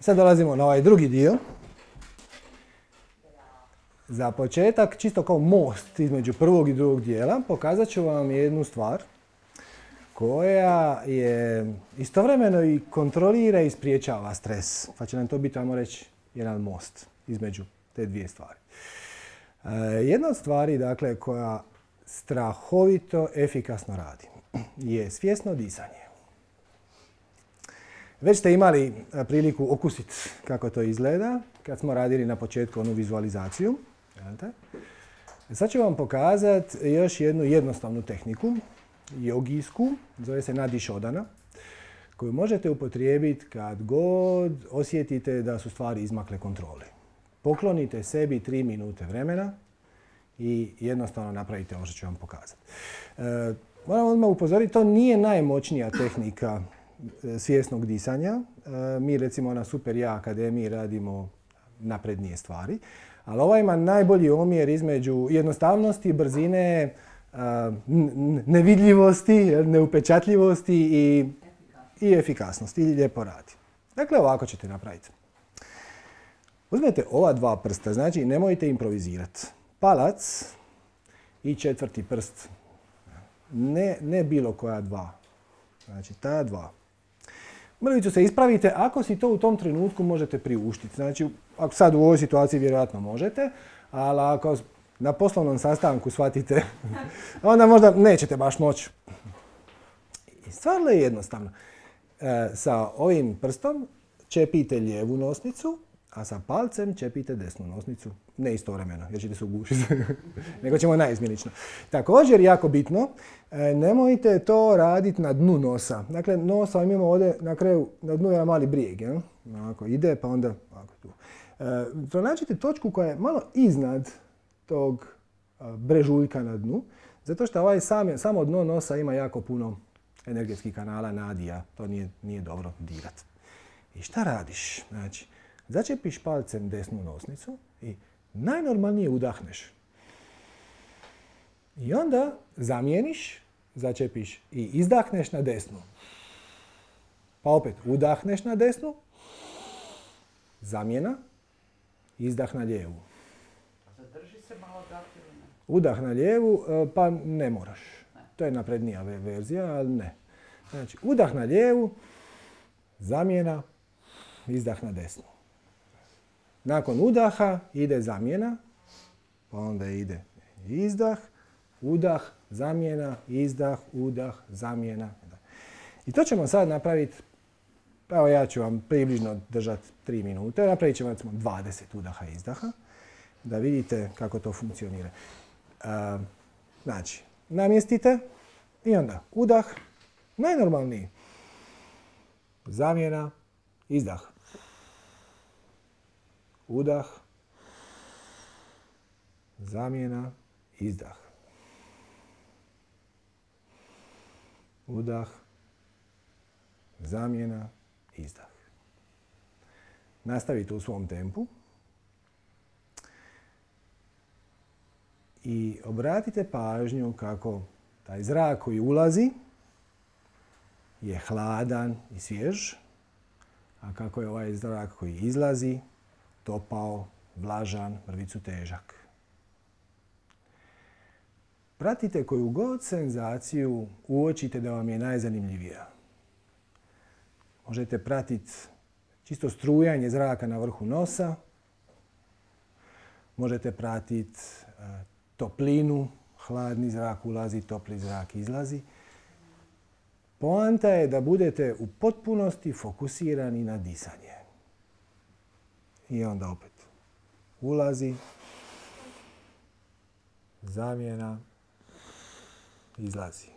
Sad dolazimo na ovaj drugi dio. Za početak, čisto kao most između prvog i drugog dijela, pokazat ću vam jednu stvar koja je istovremeno i kontrolira i spriječava stres. Pa će nam to biti, ajmo reći, jedan most između te dvije stvari. Jedna od stvari, dakle, koja strahovito efikasno radi je svjesno disanje. Već ste imali priliku okusiti kako to izgleda kad smo radili na početku onu vizualizaciju. Sad ću vam pokazati još jednu jednostavnu tehniku, jogijsku, zove se Nadi Shodhana, koju možete upotrijebiti kad god osjetite da su stvari izmakle kontroli. Poklonite sebi 3 minute vremena i jednostavno napravite ovo što ću vam pokazati. Moram odmah upozoriti, to nije najmoćnija tehnika svjesnog disanja. Mi recimo na Super Ja Akademiji radimo naprednije stvari, ali ova ima najbolji omjer između jednostavnosti, brzine, nevidljivosti, neupečatljivosti i efikasnosti i lijepo radi. Dakle, ovako ćete napraviti. Uzmete ova dva prsta, znači nemojte improvizirati. Palac i 4. prst. Ne bilo koja dva. Znači ta dva. Mrvicu se ispravite ako si to u tom trenutku možete priuštiti. Znači, ako sad u ovoj situaciji vjerojatno možete, ali ako na poslovnom sastanku shvatite, onda možda nećete baš moći. I stvarno je jednostavno. Sa ovim prstom čepite lijevu nosnicu, a sa palcem čepite desnu nosnicu. Ne istovremeno, jer ćete se ugušiti. Nego ćemo naizmjenično. Također, jako bitno, nemojte to raditi na dnu nosa. Dakle, nosa imamo ovdje na kraju, na dnu je mali brijeg. Ja? Ovako ide, pa onda ovako tu. Pronađite točku koja je malo iznad tog brežuljka na dnu, zato što ovaj samo dno nosa ima jako puno energetskih kanala, nadija. To nije dobro dirati. I šta radiš? Znači, začepiš palcem desnu nosnicu i najnormalnije udahneš. I onda zamijeniš, začepiš i izdahneš na desnu. Pa opet udahneš na desnu, zamjena, izdah na lijevu. Zadrži se malo dah ili ne? Udah na lijevu, pa ne moraš. To je naprednija verzija, ali ne. Znači, udah na lijevu, zamjena, izdah na desnu. Nakon udaha ide zamjena, pa onda ide izdah, udah, zamjena, izdah, udah, zamjena. I to ćemo sad napraviti, evo ja ću vam približno držati 3 minute, napravit ćemo recimo 20 udaha i izdaha, da vidite kako to funkcionira. Znači, namjestite i onda udah, najnormalniji, zamjena, izdah. Udah, zamjena, izdah. Udah, zamjena, izdah. Nastavite u svom tempu i obratite pažnju kako taj zrak koji ulazi je hladan i svjež, a kako je ovaj zrak koji izlazi topao, vlažan, mrvicu težak. Pratite koju god senzaciju uočite da vam je najzanimljivija. Možete pratiti čisto strujanje zraka na vrhu nosa, možete pratiti toplinu, hladni zrak ulazi, topli zrak izlazi. Poanta je da budete u potpunosti fokusirani na disanje. I onda opet ulazi, zamjena, izlazi.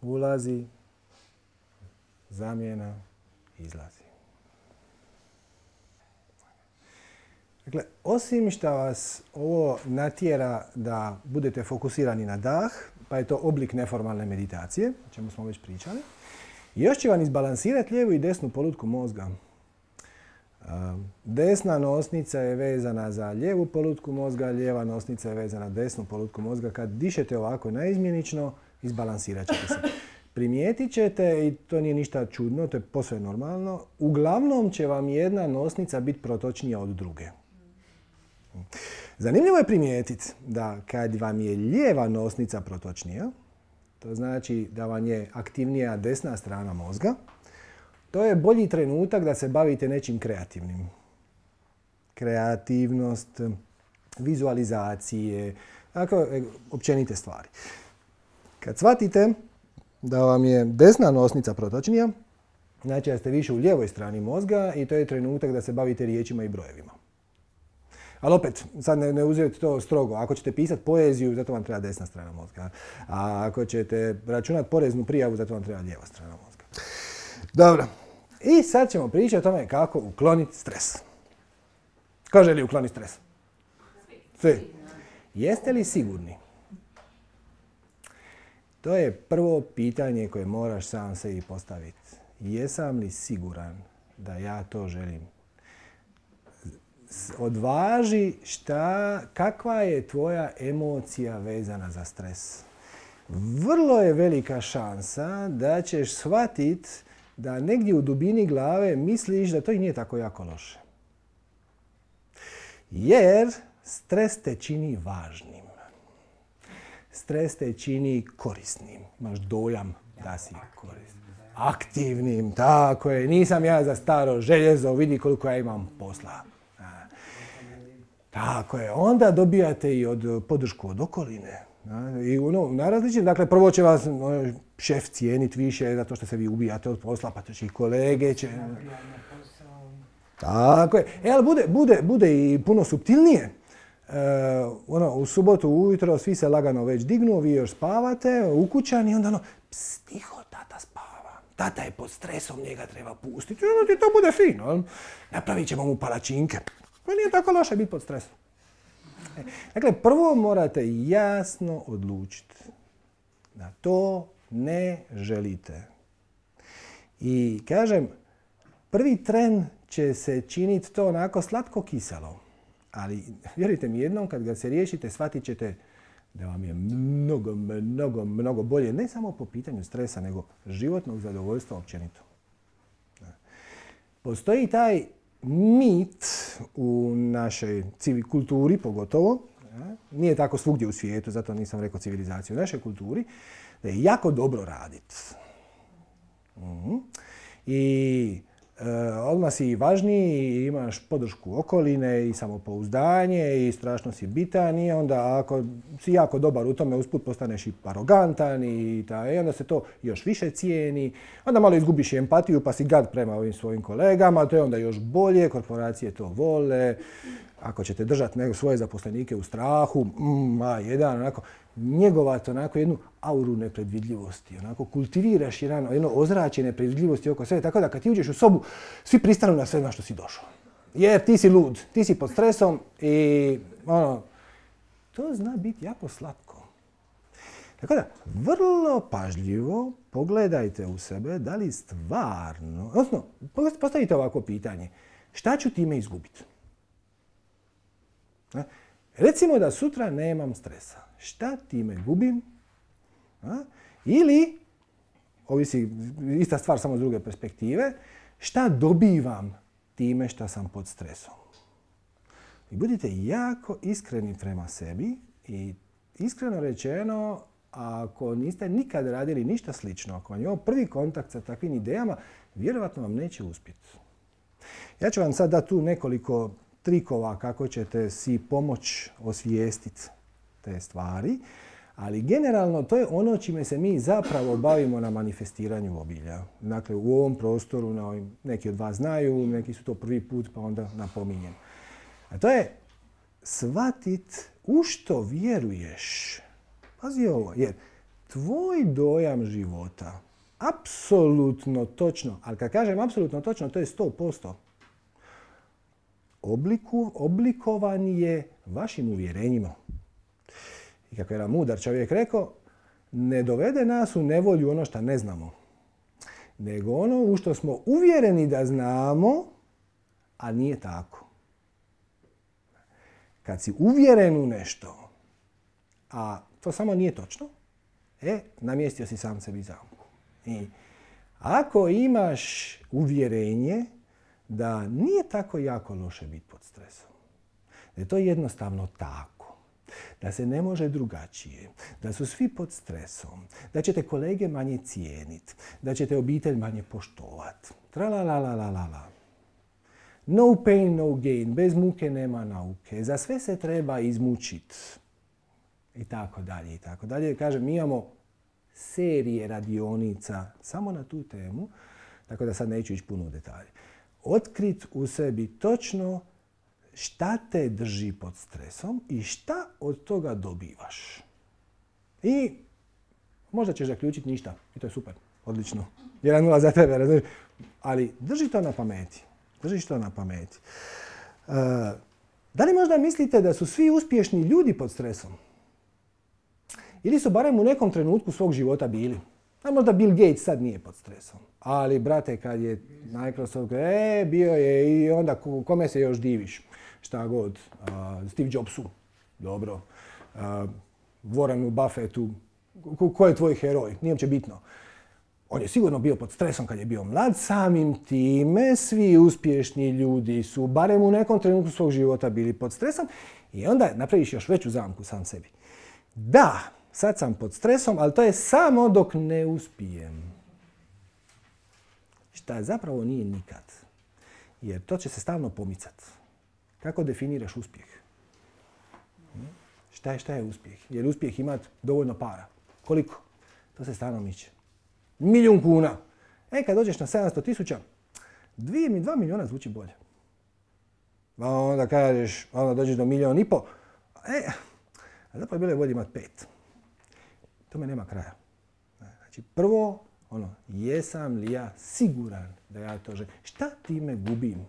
Ulazi, zamjena, izlazi. Dakle, osim što vas ovo natjera da budete fokusirani na dah, pa je to oblik neformalne meditacije, o čemu smo već pričali, još će vam izbalansirati lijevu i desnu polutku mozga. Desna nosnica je vezana za lijevu polutku mozga, lijeva nosnica je vezana za desnu polutku mozga. Kad dišete ovako naizmjenično, izbalansirat ćete se. primijetit ćete, i to nije ništa čudno, to je posve normalno, uglavnom će vam jedna nosnica biti protočnija od druge. Zanimljivo je primijetiti da kad vam je lijeva nosnica protočnija, to znači da vam je aktivnija desna strana mozga, to je bolji trenutak da se bavite nečim kreativnim. Kreativnost, vizualizacije, tako općenite stvari. Kad shvatite da vam je desna nosnica protočnija, znači da ste više u lijevoj strani mozga i to je trenutak da se bavite riječima i brojevima. Ali opet, sad ne uzeti to strogo. Ako ćete pisati poeziju, zato vam treba desna strana mozga. A ako ćete računati poreznu prijavu, zato vam treba lijeva strana mozga. Dobro. I sad ćemo pričati o tome kako ukloniti stres. Ko želi ukloniti stres? Svi. Jeste li sigurni? To je prvo pitanje koje moraš sam sebi postaviti. Jesam li siguran da ja to želim? Odvaži kakva je tvoja emocija vezana za stres. Vrlo je velika šansa da ćeš shvatiti da negdje u dubini glave misliš da to i nije tako jako loše. Jer stres te čini važnim. Stres te čini korisnim. Imaš dojam da si korisnim. Aktivnim, tako je. Nisam ja za staro željezo, vidi koliko ja imam posla. Tako je. Onda dobijate i podršku od okoline. I na različnim, dakle, prvo će vas šef cijeniti više zato što se vi ubijate od posla, pa to će i kolege će... Tako je. Ali bude i puno suptilnije. U subotu ujutro svi se lagano već dignu, vi još spavate, ukućani, i onda tiho, tata spava. Tata je pod stresom, njega treba pustiti. I onda ti to bude fino. Napravit ćemo mu palačinke. To nije tako loše biti pod stresom. Dakle, prvo morate jasno odlučiti da to ne želite. I kažem, prvi tren će se činiti to onako slatko-kiselo. Ali vjerujte mi, jednom kad ga se riješite, shvatit ćete da vam je mnogo bolje, ne samo po pitanju stresa, nego životnog zadovoljstva općenito. Postoji taj mit u našoj kulturi pogotovo, nije tako svugdje u svijetu, zato nisam rekao civilizaciju, u našoj kulturi, da je jako dobro raditi. I odmah si važniji, imaš podršku okoline i samopouzdanje i strašno si bitan i onda ako si jako dobar u tome usput postaneš i arogantan i onda se to još više cijeni. Onda malo izgubiš empatiju pa si gad prema ovim svojim kolegama, to je onda još bolje, korporacije to vole. Ako ćete držati svoje zaposlenike u strahu, onako, njegovati onako jednu auru nepredvidljivosti, onako kultiviraš jedno ozračje nepredvidljivosti oko sebe, tako da kad ti uđeš u sobu, svi pristanu na sve na što si došao. Jer ti si lud, ti si pod stresom i to zna biti jako slatko. Tako da, vrlo pažljivo pogledajte u sebe da li stvarno, odnosno, postavite ovako pitanje, šta ću time izgubiti? Recimo da sutra nemam stresa. Šta time gubim? Ili, ovisi ista stvar samo s druge perspektive, šta dobivam time što sam pod stresom? I budite jako iskreni prema sebi i iskreno rečeno, ako niste nikad radili ništa slično, ako vam je ovo prvi kontakt sa takvim idejama, vjerovatno vam neće uspjeti. Ja ću vam sad dati tu nekoliko trikova kako ćete si pomoći osvijestiti te stvari, ali generalno to je ono čime se mi zapravo bavimo na manifestiranju obilja. Dakle, u ovom prostoru, neki od vas znaju, neki su to prvi put pa onda napominjem. A to je shvatit u što vjeruješ. Pazi ovo, jer tvoj dojam života, apsolutno točno, ali kad kažem apsolutno točno, to je 100%. Oblikovan je vašim uvjerenjima. I kako je jedan mudar čovjek rekao, ne dovede nas u nevolju ono što ne znamo, nego ono u što smo uvjereni da znamo, a nije tako. Kad si uvjeren u nešto, a to samo nije točno, namjestio si sam sebi zamku. I ako imaš uvjerenje da nije tako jako loše biti pod stresom, da je to jednostavno tako, da se ne može drugačije, da su svi pod stresom, da ćete kolege manje cijeniti, da ćete obitelj manje poštovati, tralalalala. No pain, no gain, bez muke nema nauke, za sve se treba izmučiti. I tako dalje, i tako dalje. Kažem, mi imamo serije radionica samo na tu temu, tako da sad neću ići puno u detalje. Otkrit u sebi točno šta te drži pod stresom i šta od toga dobivaš. I možda ćeš zaključiti ništa. I to je super, odlično. 1-0 za tebe, razumiješ? Ali drži to na pameti. Držiš to na pameti. Da li možda mislite da su svi uspješni ljudi pod stresom? Ili su barem u nekom trenutku svog života bili? A možda Bill Gates sad nije pod stresom. Ali, brate, kad je Microsoft, bio je i onda kome se još diviš? Šta god. Steve Jobsu. Dobro. Warrenu Buffettu. Ko je tvoj heroj? Nije uopće bitno. On je sigurno bio pod stresom kad je bio mlad, samim time svi uspješni ljudi su barem u nekom trenutku svog života bili pod stresom i onda napraviš još veću zamku sam sebi. Da, sad sam pod stresom, ali to je samo dok ne uspijem. Šta zapravo nije nikad. Jer to će se stalno pomicati. Kako definiraš uspjeh? Šta je uspjeh? Jer uspjeh imati dovoljno para. Koliko? To se stalno miče. 1.000.000 kuna. Kad dođeš na 700.000, 2 milijuna zvuči bolje. A onda kažeš, onda dođeš do 1,5 milijuna. A zapravo bilo je bolje imati 5. Tome nema kraja. Znači, prvo, jesam li ja siguran da ja to želim? Šta time gubim?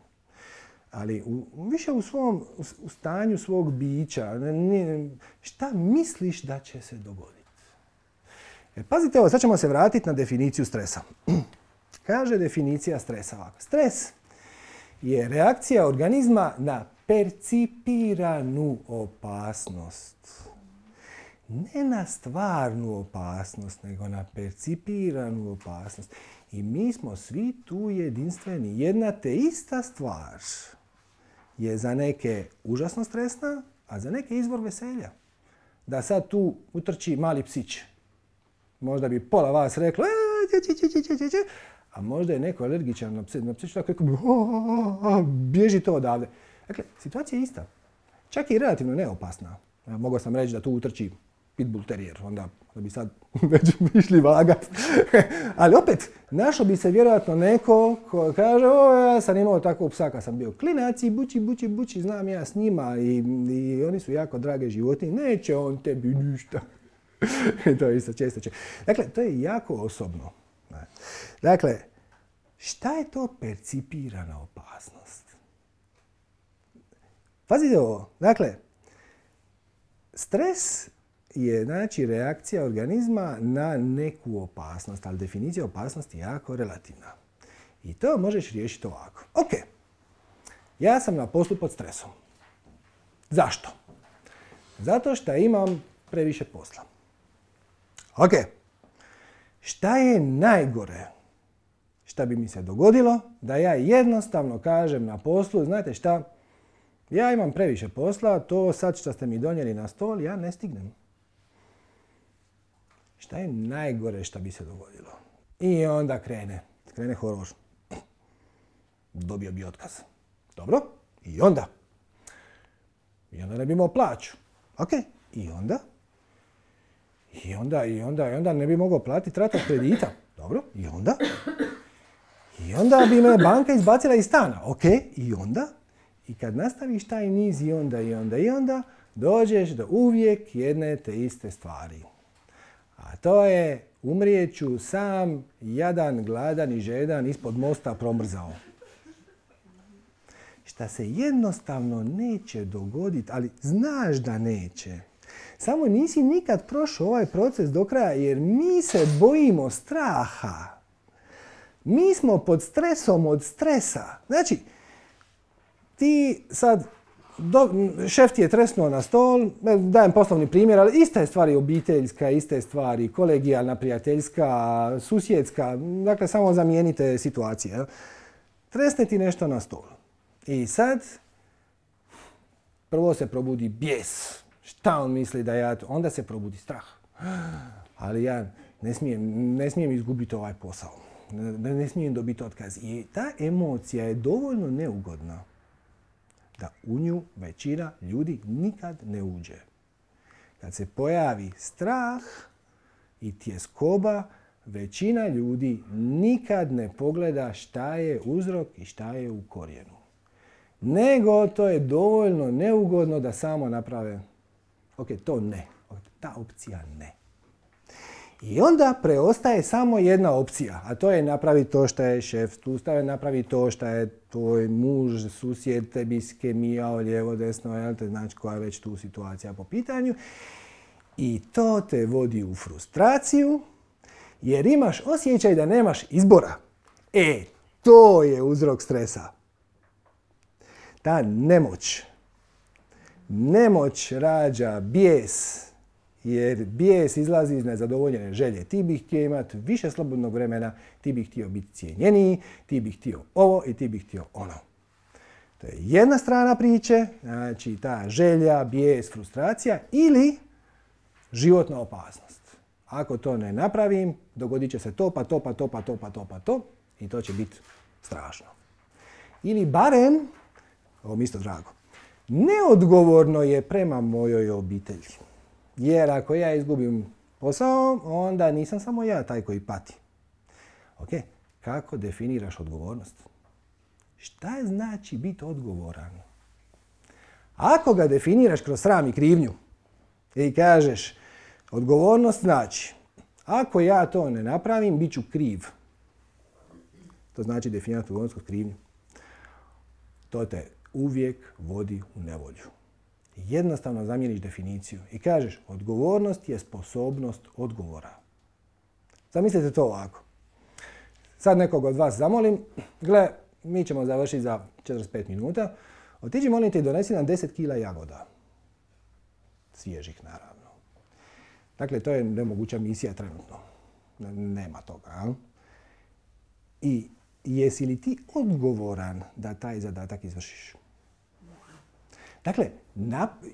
Ali više u stanju svog bića. Šta misliš da će se dogoditi? Pazite ovo, sad ćemo se vratiti na definiciju stresa. Kaže definicija stresa ovako. Stres je reakcija organizma na percipiranu opasnost. Ne na stvarnu opasnost, nego na percipiranu opasnost. I mi smo svi tu jedinstveni. Jedna te ista stvar je za neke užasno stresna, a za neke izvor veselja. Da sad tu utrči mali psić. Možda bi pola vas reklo, a možda je neko alergičan na psić, tako bježi to odavde. Dakle, situacija je ista. Čak i relativno neopasna. Mogao sam reći da tu utrči pitbull terrier, onda bi sad već išli vagat. Ali opet, našao bi se vjerojatno neko ko kaže, ja sam imao takvog psa kad sam bio klinac i buči, znam ja s njima i oni su jako drage životinje, neće on tebi ništa. To je isto često. Dakle, to je jako osobno. Dakle, šta je to percipirana opasnost? Pazite ovo. Dakle, stres je znači reakcija organizma na neku opasnost, ali definicija opasnosti je jako relativna. I to možeš riješiti ovako. Ok, ja sam na poslu pod stresom. Zašto? Zato što imam previše posla. Ok, šta je najgore šta bi mi se dogodilo da ja jednostavno kažem na poslu, znate šta, ja imam previše posla, to sad što ste mi donijeli na stol, ja ne stignem. Šta je najgore šta bi se dogodilo? I onda krene horor. Dobio bi otkaz. Dobro, i onda ne bi imao plaću. Ok, i onda ne bi mogao platiti ratu kredita. Dobro, i onda bi me banka izbacila iz stana. Ok, i onda? I kad nastaviš taj niz i onda, dođeš do uvijek jedne te iste stvari. A to je umrijeću sam, jadan, gladan i žedan ispod mosta promrzao. Šta se jednostavno neće dogoditi, ali znaš da neće. Samo nisi nikad prošao ovaj proces do kraja jer mi se bojimo straha. Mi smo pod stresom od stresa. Znači, ti sad šef ti je tresnuo na stol, dajem poslovni primjer, ali ista je stvar i obiteljska, ista je stvar i kolegijalna, prijateljska, susjedska, dakle samo zamijenite situacije. Tresne ti nešto na stol. I sad, prvo se probudi bijes. Šta on misli da ja... Onda se probudi strah. Ali ja ne smijem izgubiti ovaj posao. Ne smijem dobiti otkaz. I ta emocija je dovoljno neugodna da u nju većina ljudi nikad ne uđe. Kad se pojavi strah i tjeskoba, većina ljudi nikad ne pogleda šta je uzrok i šta je u korijenu. Nego to je dovoljno neugodno da samo naprave, ok, to ne, ta opcija ne. I onda preostaje samo jedna opcija, a to je napraviti to što je šef tu stavio, napraviti to što je tvoj muž, susjed tebi skemijao lijevo, desno, jel te, znači koja je već tu situacija po pitanju. I to te vodi u frustraciju, jer imaš osjećaj da nemaš izbora. To je uzrok stresa. Ta nemoć rađa bijes, jer bijes izlazi iz nezadovoljene želje. Ti bih htio imati više slobodnog vremena, ti bih htio biti cijenjeniji, ti bih htio ovo i ti bih htio ono. To je jedna strana priče, znači ta želja, bijes, frustracija ili životna opasnost. Ako to ne napravim, dogodit će se to, pa to, pa to, pa to, pa to, pa to i to će biti strašno. Ili barem, ovo mi isto drago, neodgovorno je prema mojoj obitelji. Jer ako ja izgubim posao, onda nisam samo ja taj koji pati. Ok, kako definiraš odgovornost? Šta znači biti odgovoran? Ako ga definiraš kroz sram i krivnju i kažeš odgovornost znači ako ja to ne napravim, bit ću kriv. To znači definirati odgovornost kroz krivnju. To te uvijek vodi u nevolju. Jednostavno zamijeniš definiciju i kažeš odgovornost je sposobnost odgovora. Zamislite to ovako. Sad nekog od vas zamolim, gle, mi ćemo završiti za 45 minuta. Otiđi molim te i donesi nam 10 kila jagoda. Svježih naravno. Dakle, to je nemoguća misija trenutno. Nema toga. A? I jesi li ti odgovoran da taj zadatak izvršiš? Dakle,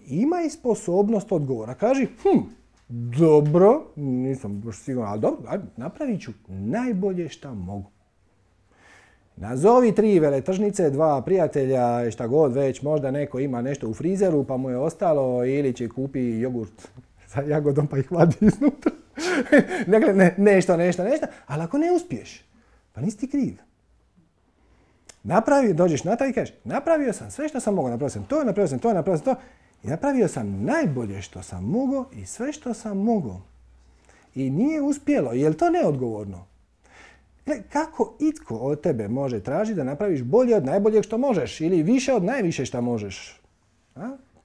imaj sposobnost odgovora. Kaži, dobro, nisam baš siguran, ali dobro, napravit ću najbolje šta mogu. Nazovi 3 veletržnice, 2 prijatelja, šta god već, možda neko ima nešto u frizeru pa mu je ostalo ili će kupi jogurt sa jagodom pa ih vadi iznutra. Dakle, nešto, ali ako ne uspiješ, pa nisi ti kriv. Dođeš na taj i kažeš, napravio sam sve što sam mogao, napravio sam to i napravio sam najbolje što sam mogao i sve što sam mogao. I nije uspjelo, je li to neodgovorno? Kako itko od tebe može tražiti da napraviš bolje od najboljeg što možeš ili više od najviše što možeš?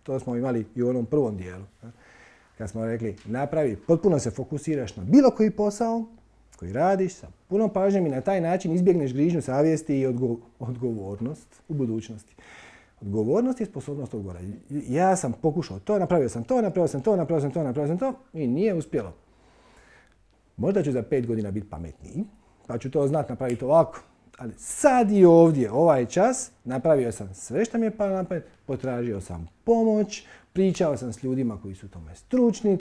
To smo imali i u onom prvom dijelu. Kad smo rekli, napravi, potpuno se fokusiraš na bilo koji posao koji radiš sa punom pažnjom i na taj način izbjegneš grižnju savjesti i odgovornost u budućnosti. Odgovornost je sposobnost odgovora. Ja sam pokušao to, napravio sam to i nije uspjelo. Možda ću za 5 godina biti pametniji, pa ću to znati napraviti ovako. Ali sad i ovdje, ovaj čas, napravio sam sve što mi je palo na pamet, potražio sam pomoć, pričao sam s ljudima koji su tome stručni,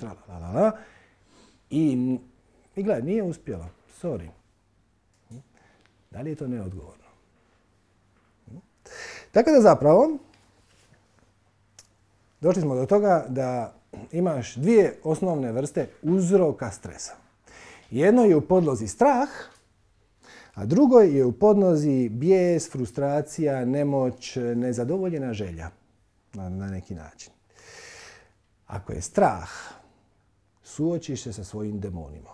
i gledaj, nije uspjelo. Sorry. Da li je to neodgovorno? Tako da zapravo, došli smo do toga da imaš 2 osnovne vrste uzroka stresa. Jedno je u podlozi strah, a drugo je u podlozi bijes, frustracija, nemoć, nezadovoljena želja na neki način. Ako je strah, suočiš se sa svojim demonima.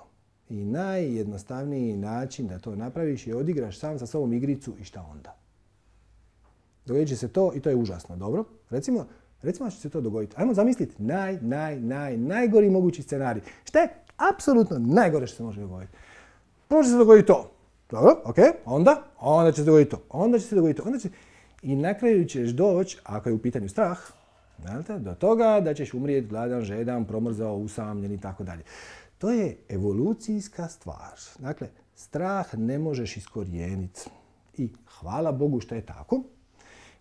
I najjednostavniji način da to napraviš je odigraš sam sa sobom igricu i šta onda. Dogodit će se to i to je užasno, dobro? Recimo da će se to dogoditi. Ajmo zamisliti najgori mogući scenarij. Šta je apsolutno najgore što se može dogoditi? Prvo će se dogoditi to. Dobro, ok, onda će se dogoditi to. Onda će se dogoditi to. I na kraju ćeš doći, ako je u pitanju strah, do toga da ćeš umrijeti gladan, žedan, promrzao, usamljen i tako dalje. To je evolucijska stvar. Dakle, strah ne možeš iskorijeniti. I hvala Bogu što je tako,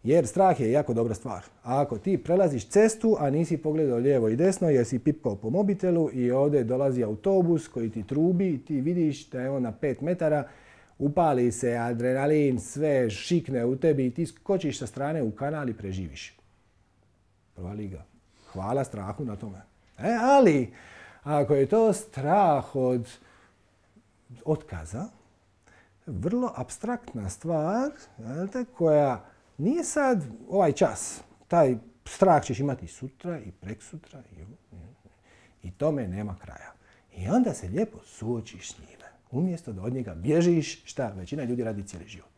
jer strah je jako dobra stvar. A ako ti prelaziš cestu, a nisi pogledao lijevo i desno jer si pipkao po mobitelu i ovdje dolazi autobus koji ti trubi, ti vidiš da je on na 5 metara, upali se adrenalin, sve šikne u tebi i ti skočiš sa strane u kanal i preživiš. Prva liga. Hvala strahu na tome. Ali, ako je to strah od otkaza, vrlo apstraktna stvar koja nije sad ovaj čas. Taj strah ćeš imati sutra i preksutra i tome nema kraja. I onda se lijepo suočiš s njime. Umjesto da od njega bježiš, šta većina ljudi radi cijeli život.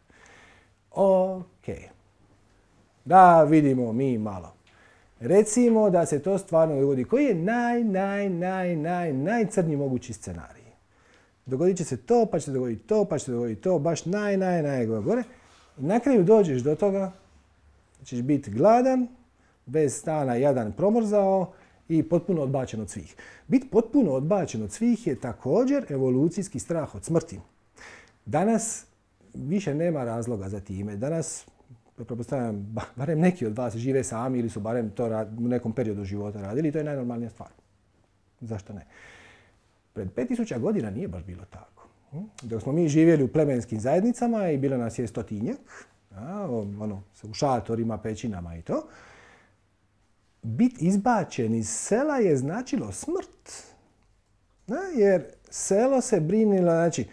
Ok. Da vidimo mi malo. Recimo da se to stvarno dogodi. Koji je najcrnji mogući scenarij? Dogodit će se to, pa će se dogoditi to, pa će se dogoditi to, baš gore. I na kraju dođeš do toga, ćeš biti gladan, bez stana, jadan, promrzao i potpuno odbačen od svih. Biti potpuno odbačen od svih je također evolucijski strah od smrti. Danas više nema razloga za time. Danas, pretpostavljam, barem neki od vas žive sami ili su barem to u nekom periodu života radili i to je najnormalnija stvar. Zašto ne? Pred 5000 godina nije baš bilo tako. Dok smo mi živjeli u plemenskim zajednicama i bilo nas je 100-tinjak, u šatorima, pećinama i to, biti izbačen iz sela je značilo smrt. Jer selo se brinilo, znači,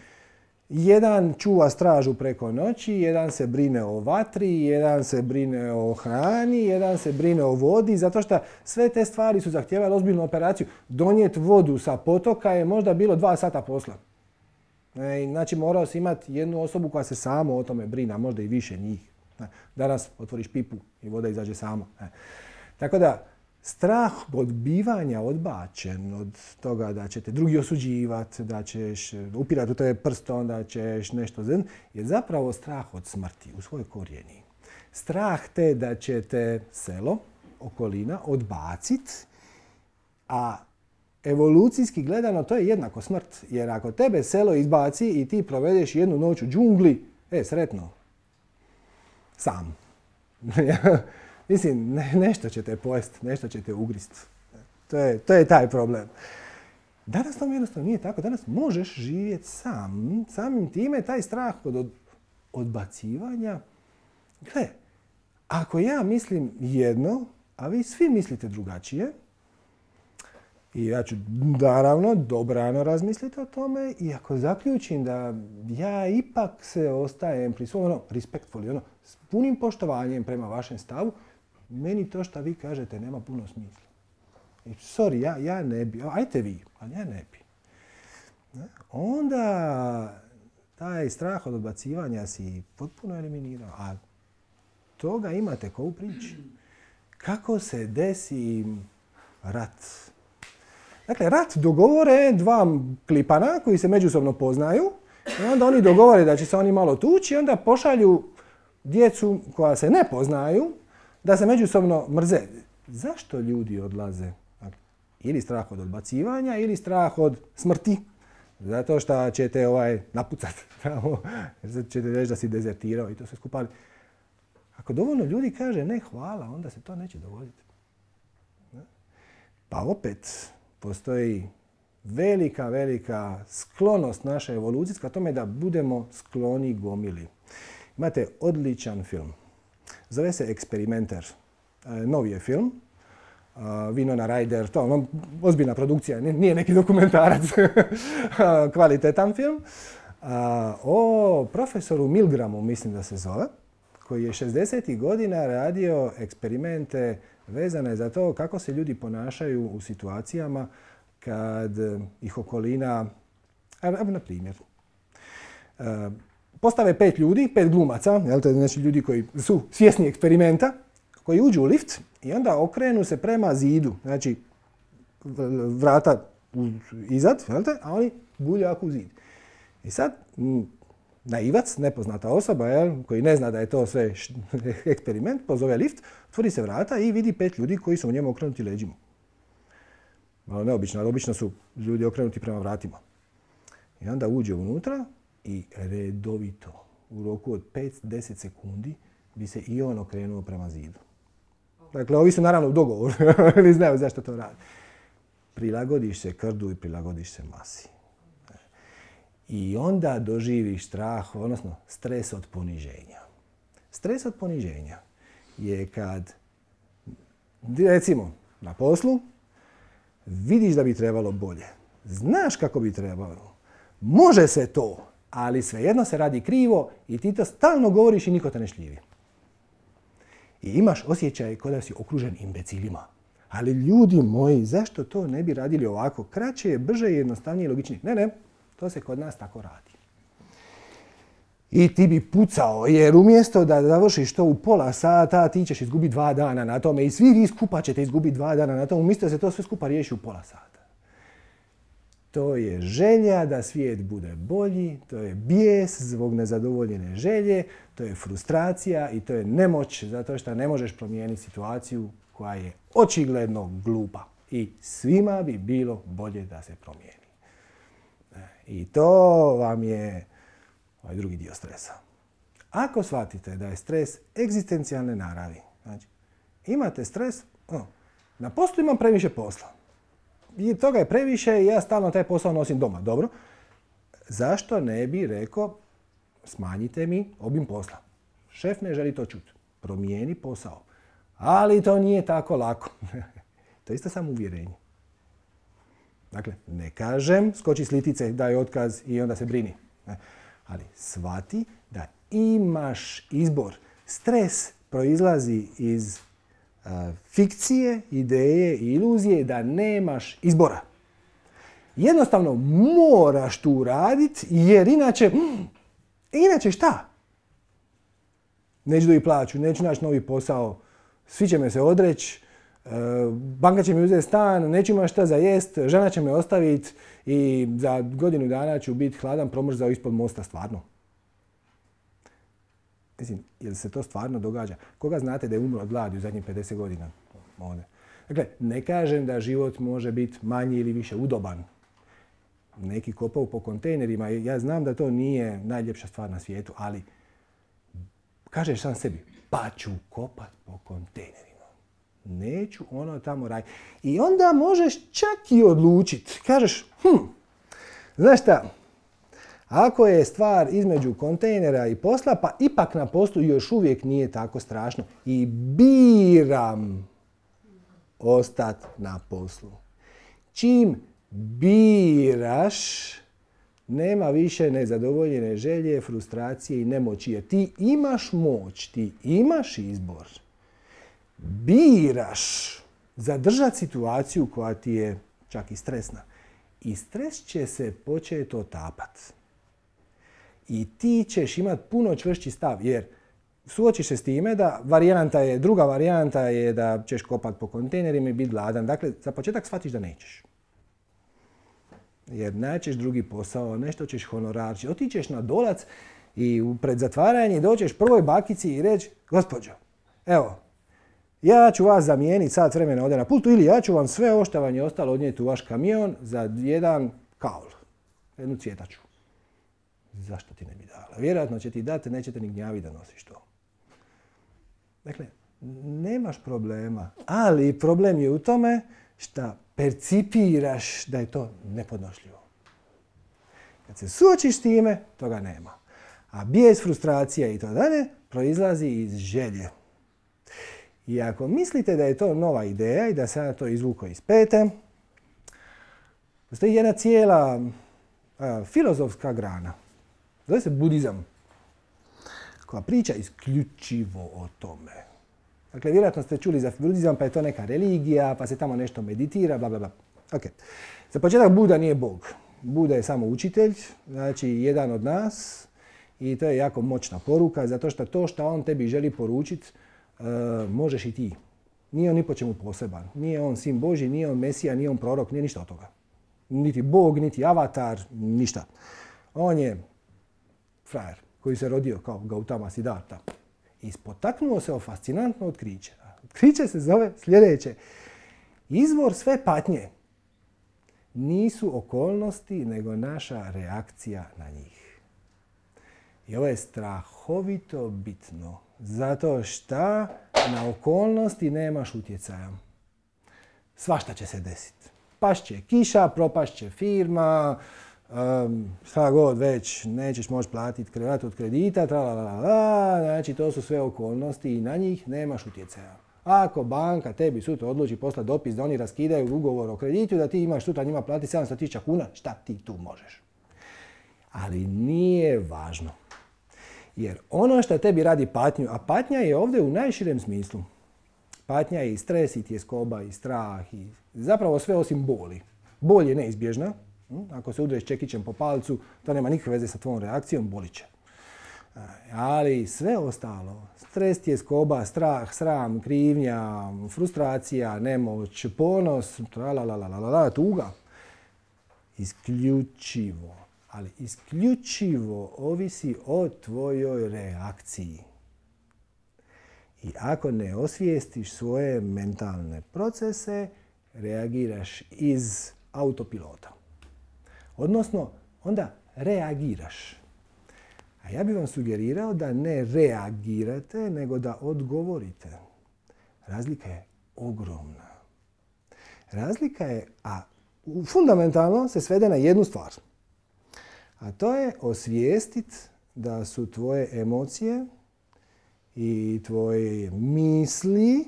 jedan čuva stražu preko noći, jedan se brine o vatri, jedan se brine o hrani, jedan se brine o vodi, zato što sve te stvari su zahtijevale ozbiljnu operaciju. Donijeti vodu sa potoka je možda bilo 2 sata posla. Znači morao si imati jednu osobu koja se samo o tome brine, a možda i više njih. Danas otvoriš pipu i voda izađe samo. Tako da, strah od bivanja odbačen, od toga da će te drugi osuđivati, da ćeš upirati u tebe prstom, da ćeš nešto zrn, je zapravo strah od smrti u svojoj korijeni. Strah te da će te selo, okolina, odbaciti, a evolucijski gledano to je jednako smrt. Jer ako tebe selo izbaci i ti provedeš jednu noć u džungli, sretno. Sam. Mislim, nešto će te pojesti, nešto će te ugrist. To je taj problem. Danas to jednostavno nije tako. Danas možeš živjeti sam. Samim time taj strah od odbacivanja. Gle, ako ja mislim jedno, a vi svi mislite drugačije, i ja ću naravno dobrano razmisliti o tome i ako zaključim da ja ipak se ostajem pri svom respectfully, s punim poštovanjem prema vašem stavu, meni to što vi kažete nema puno smisla. Sorry, ja ne bi, ajte vi, ali ja ne bi. Onda taj strah od odbacivanja si potpuno eliminirao, a toga imate ko u priči. Kako se desi rat? Dakle, rat dogovore 2 klipana koji se međusobno poznaju i onda oni dogovore da će se oni malo tući i onda pošalju djecu koja se ne poznaju da se međusobno mrze. Zašto ljudi odlaze? Ili strah od odbacivanja ili strah od smrti. Zato što ćete napucati. Ćete reći da si dezertirao i to sve skupa. Ako dovoljno ljudi kaže ne hvala, onda se to neće dogoditi. Pa opet postoji velika sklonost naša evolucijska tome da budemo skloni gomili. Imate odličan film. Zove se Eksperimenter. Novi je film. Winona Ryder, to ozbiljna produkcija, nije neki dokumentarac. Kvalitetan film. O profesoru Milgramu, mislim da se zove, koji je 60. godina radio eksperimente vezane za to kako se ljudi ponašaju u situacijama kad ih okolina, na primjer, postave 5 ljudi, 5 glumaca, znači ljudi koji su svjesni eksperimenta, koji uđu u lift i onda okrenu se prema zidu, znači vrata izad, a oni buljak u zid. I sad naivac, nepoznata osoba, koji ne zna da je to sve eksperiment, pozove lift, otvori se vrata i vidi 5 ljudi koji su u njemu okrenuti leđima. Malo neobično, ali obično su ljudi okrenuti prema vratima. I onda uđe unutra i redovito, u roku od 5-10 sekundi, bi se i on okrenuo prema zidu. Dakle, ovi su naravno u dogovoru, ne znaju zašto to radi. Prilagodiš se krdu i prilagodiš se masi. I onda doživiš strah, odnosno stres od poniženja. Stres od poniženja je kad, recimo, na poslu vidiš da bi trebalo bolje. Znaš kako bi trebalo. Može se to, ali svejedno se radi krivo i ti to stalno govoriš i niko te ne šljivi. I imaš osjećaj kao da si okružen imbecilima. Ali ljudi moji, zašto to ne bi radili ovako? Kraće je, brže je, jednostavnije i logičnije. Ne, to se kod nas tako radi. I ti bi pucao, jer umjesto da završiš to u pola sata, ti ćeš izgubiti 2 dana na tome i svi vi skupa ćete izgubiti 2 dana na tome, umjesto da se to sve skupa riješi u pola sata. To je želja da svijet bude bolji, to je bijes zbog nezadovoljene želje, to je frustracija i to je nemoć zato što ne možeš promijeniti situaciju koja je očigledno glupa. I svima bi bilo bolje da se promijeni. I to vam je ovaj drugi dio stresa. Ako shvatite da je stres egzistencijalne naravi, znači imate stres, na poslu imam previše posla. I toga je previše i ja stalno taj posao nosim doma. Dobro, zašto ne bi rekao smanjite mi obim posla? Šef ne želi to čuti. Promijeni posao. Ali to nije tako lako. To je isto samo uvjerenje. Dakle, ne kažem skoči s litice, daj otkaz i onda se brini. Ali shvati da imaš izbor. Stres proizlazi iz fikcije, ideje i iluzije da nemaš izbora. Jednostavno moraš tu raditi jer inače šta? Neću dobiti plaću, neću naći novi posao, svi će me se odreći, banka će mi uzeti stan, neću imati šta za jest, žena će me ostaviti i za godinu dana ću biti hladan promrzao ispod mosta, stvarno. Mislim, jel se to stvarno događa? Koga znate da je umro od gladi u zadnjih 50 godina? Ovdje. Dakle, ne kažem da život može biti manji ili više udoban. Neki kopaju po kontejnerima. Ja znam da to nije najljepša stvar na svijetu, ali kažeš sam sebi, pa ću kopat po kontejnerima. Neću ono tamo raditi. I onda možeš čak i odlučiti. Kažeš, znaš šta, ako je stvar između kontejnera i posla, pa ipak na poslu još uvijek nije tako strašno. I biram ostati na poslu. Čim biraš, nema više nezadovoljene želje, frustracije i nemoći. Jer ti imaš moć, ti imaš izbor. Biraš zadržati situaciju koja ti je čak i stresna. I stres će se početi otapati. I ti ćeš imati puno čvršći stav, jer suočiš se s time da druga varijanta je da ćeš kopati po kontejnerima i biti gladan. Dakle, za početak shvatiš da nećeš. Jer naćeš drugi posao, nešto ćeš honorar, otićeš na dolac i pred zatvaranje dođeš prvoj bakici i reći, gospođo, evo, ja ću vas zamijeniti sat vremena ovdje na pultu ili ja ću vam sve ovo što vam je ostalo odnijeti u vaš kamion za jedan kaul, jednu cvjetaču. Zašto ti ne bi dala? Vjerojatno će ti dati, nećete ni gnjavi da nosiš to. Dakle, nemaš problema, ali problem je u tome što percipiraš da je to nepodnošljivo. Kad se suočiš s time, toga nema. A bijes, frustracija i to dalje proizlazi iz želje. I ako mislite da je to nova ideja i da se ja to izvuko iz pete, postoji jedna cijela filozofska grana. Zove se budizam, koja priča isključivo o tome. Dakle, vjerojatno ste čuli za budizam, pa je to neka religija, pa se tamo nešto meditira, bla, bla, bla. Ok. Za početak Buda nije Bog. Buda je samo učitelj, znači jedan od nas i to je jako moćna poruka, zato što to što on tebi želi poručiti, možeš i ti. Nije on ni po čemu poseban. Nije on sin Božji, nije on Mesija, nije on prorok, nije ništa od toga. Niti Bog, niti avatar, ništa. On je frajer koji se rodio kao Gautama Siddhartha i spotaknuo se o fascinantno otkriće. Otkriće se zove sljedeće. Izvor sve patnje nisu okolnosti, nego naša reakcija na njih. I ovo je strahovito bitno, zato što na okolnosti nemaš utjecaja. Svašta će se desiti. Pašće kiša, propašće firma, šta god već, nećeš moći platiti krevat od kredita, znači to su sve okolnosti i na njih nemaš utjecaja. Ako banka tebi sutra odluči poslati dopis da oni raskidaju ugovor o kreditu, da ti imaš sutra njima platiti 700.000 kuna, šta ti tu možeš? Ali nije važno. Jer ono što tebi radi patnju, a patnja je ovdje u najširem smislu. Patnja je i stres, i tjeskoba, i strah, i zapravo sve osim boli. Bol je neizbježna. Ako se udreš čekićem po palcu, to nema nikakve veze sa tvojom reakcijom, bolit će. Ali sve ostalo, stres, tjeskoba, strah, sram, krivnja, frustracija, nemoć, ponos, tuga, isključivo, ali isključivo ovisi o tvojoj reakciji. I ako ne osvijestiš svoje mentalne procese, reagiraš iz autopilota. Odnosno, onda reagiraš. A ja bih vam sugerirao da ne reagirate, nego da odgovorite. Razlika je ogromna. Razlika je, a fundamentalno se svede na jednu stvar. A to je osvijestiti da su tvoje emocije i tvoje misli,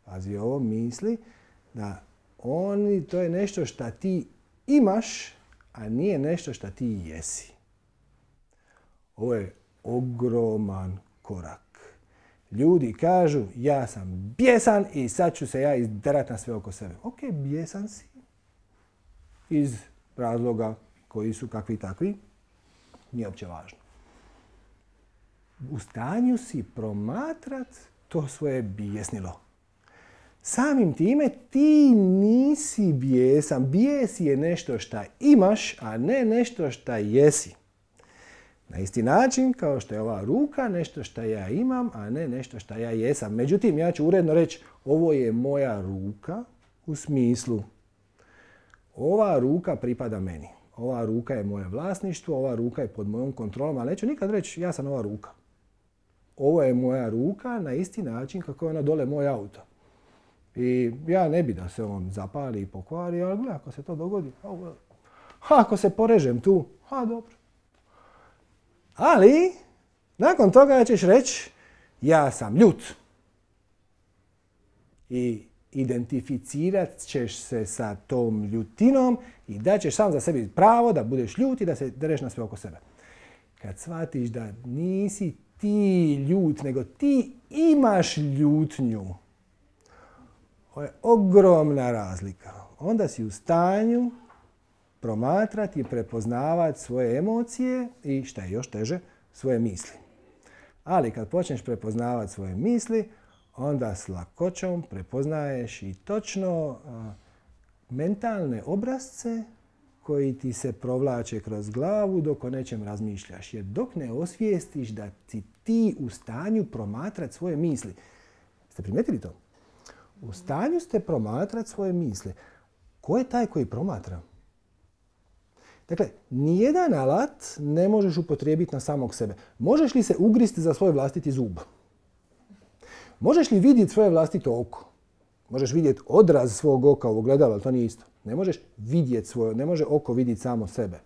pazi ovo, misli, da to je nešto što ti imaš, a nije nešto što ti jesi. Ovo je ogroman korak. Ljudi kažu, ja sam bijesan i sad ću se ja izderat na sve oko sebe. Ok, bijesan si. Iz razloga koji su kakvi takvi. Nije uopće važno. U stanju si promatrat to svoje bijesnilo. Samim time ti nisi bijesan. Bijes je nešto šta imaš, a ne nešto šta jesi. Na isti način kao što je ova ruka nešto šta ja imam, a ne nešto šta ja jesam. Međutim, ja ću uredno reći, ovo je moja ruka u smislu ova ruka pripada meni. Ova ruka je moje vlasništvo, ova ruka je pod mojom kontrolom, ali neću nikad reći ja sam ova ruka. Ovo je moja ruka na isti način kako je ona dole moj auto. I ja ne bi da se on zapali i pokvari, ali gledaj, ako se to dogodi, ako se porežem tu, dobro. Ali, nakon toga ćeš reći, ja sam ljut. I identificirat ćeš se sa tom ljutinom i daćeš sam za sebi pravo da budeš ljut i da se dereš na sve oko sebe. Kad shvatiš da nisi ti ljut, nego ti imaš ljutnju, ovo je ogromna razlika. Onda si u stanju promatrati i prepoznavati svoje emocije i, šta je još teže, svoje misli. Ali kad počneš prepoznavati svoje misli, onda s lakoćom prepoznaješ i točno mentalne obrasce koji ti se provlače kroz glavu dok o nečem razmišljaš. Jer dok ne osvijestiš da si ti u stanju promatrati svoje misli. Ste primijetili to? U stanju ste promatrati svoje misli. Ko je taj koji promatra? Dakle, nijedan alat ne možeš upotrijebiti na samog sebe. Možeš li se ugristi za svoj vlastiti zub? Možeš li vidjeti svoje vlastito oko? Možeš vidjeti odraz svog oka u ogledalu, ali to nije isto. Ne možeš vidjeti svoje, ne može oko vidjeti samo sebe.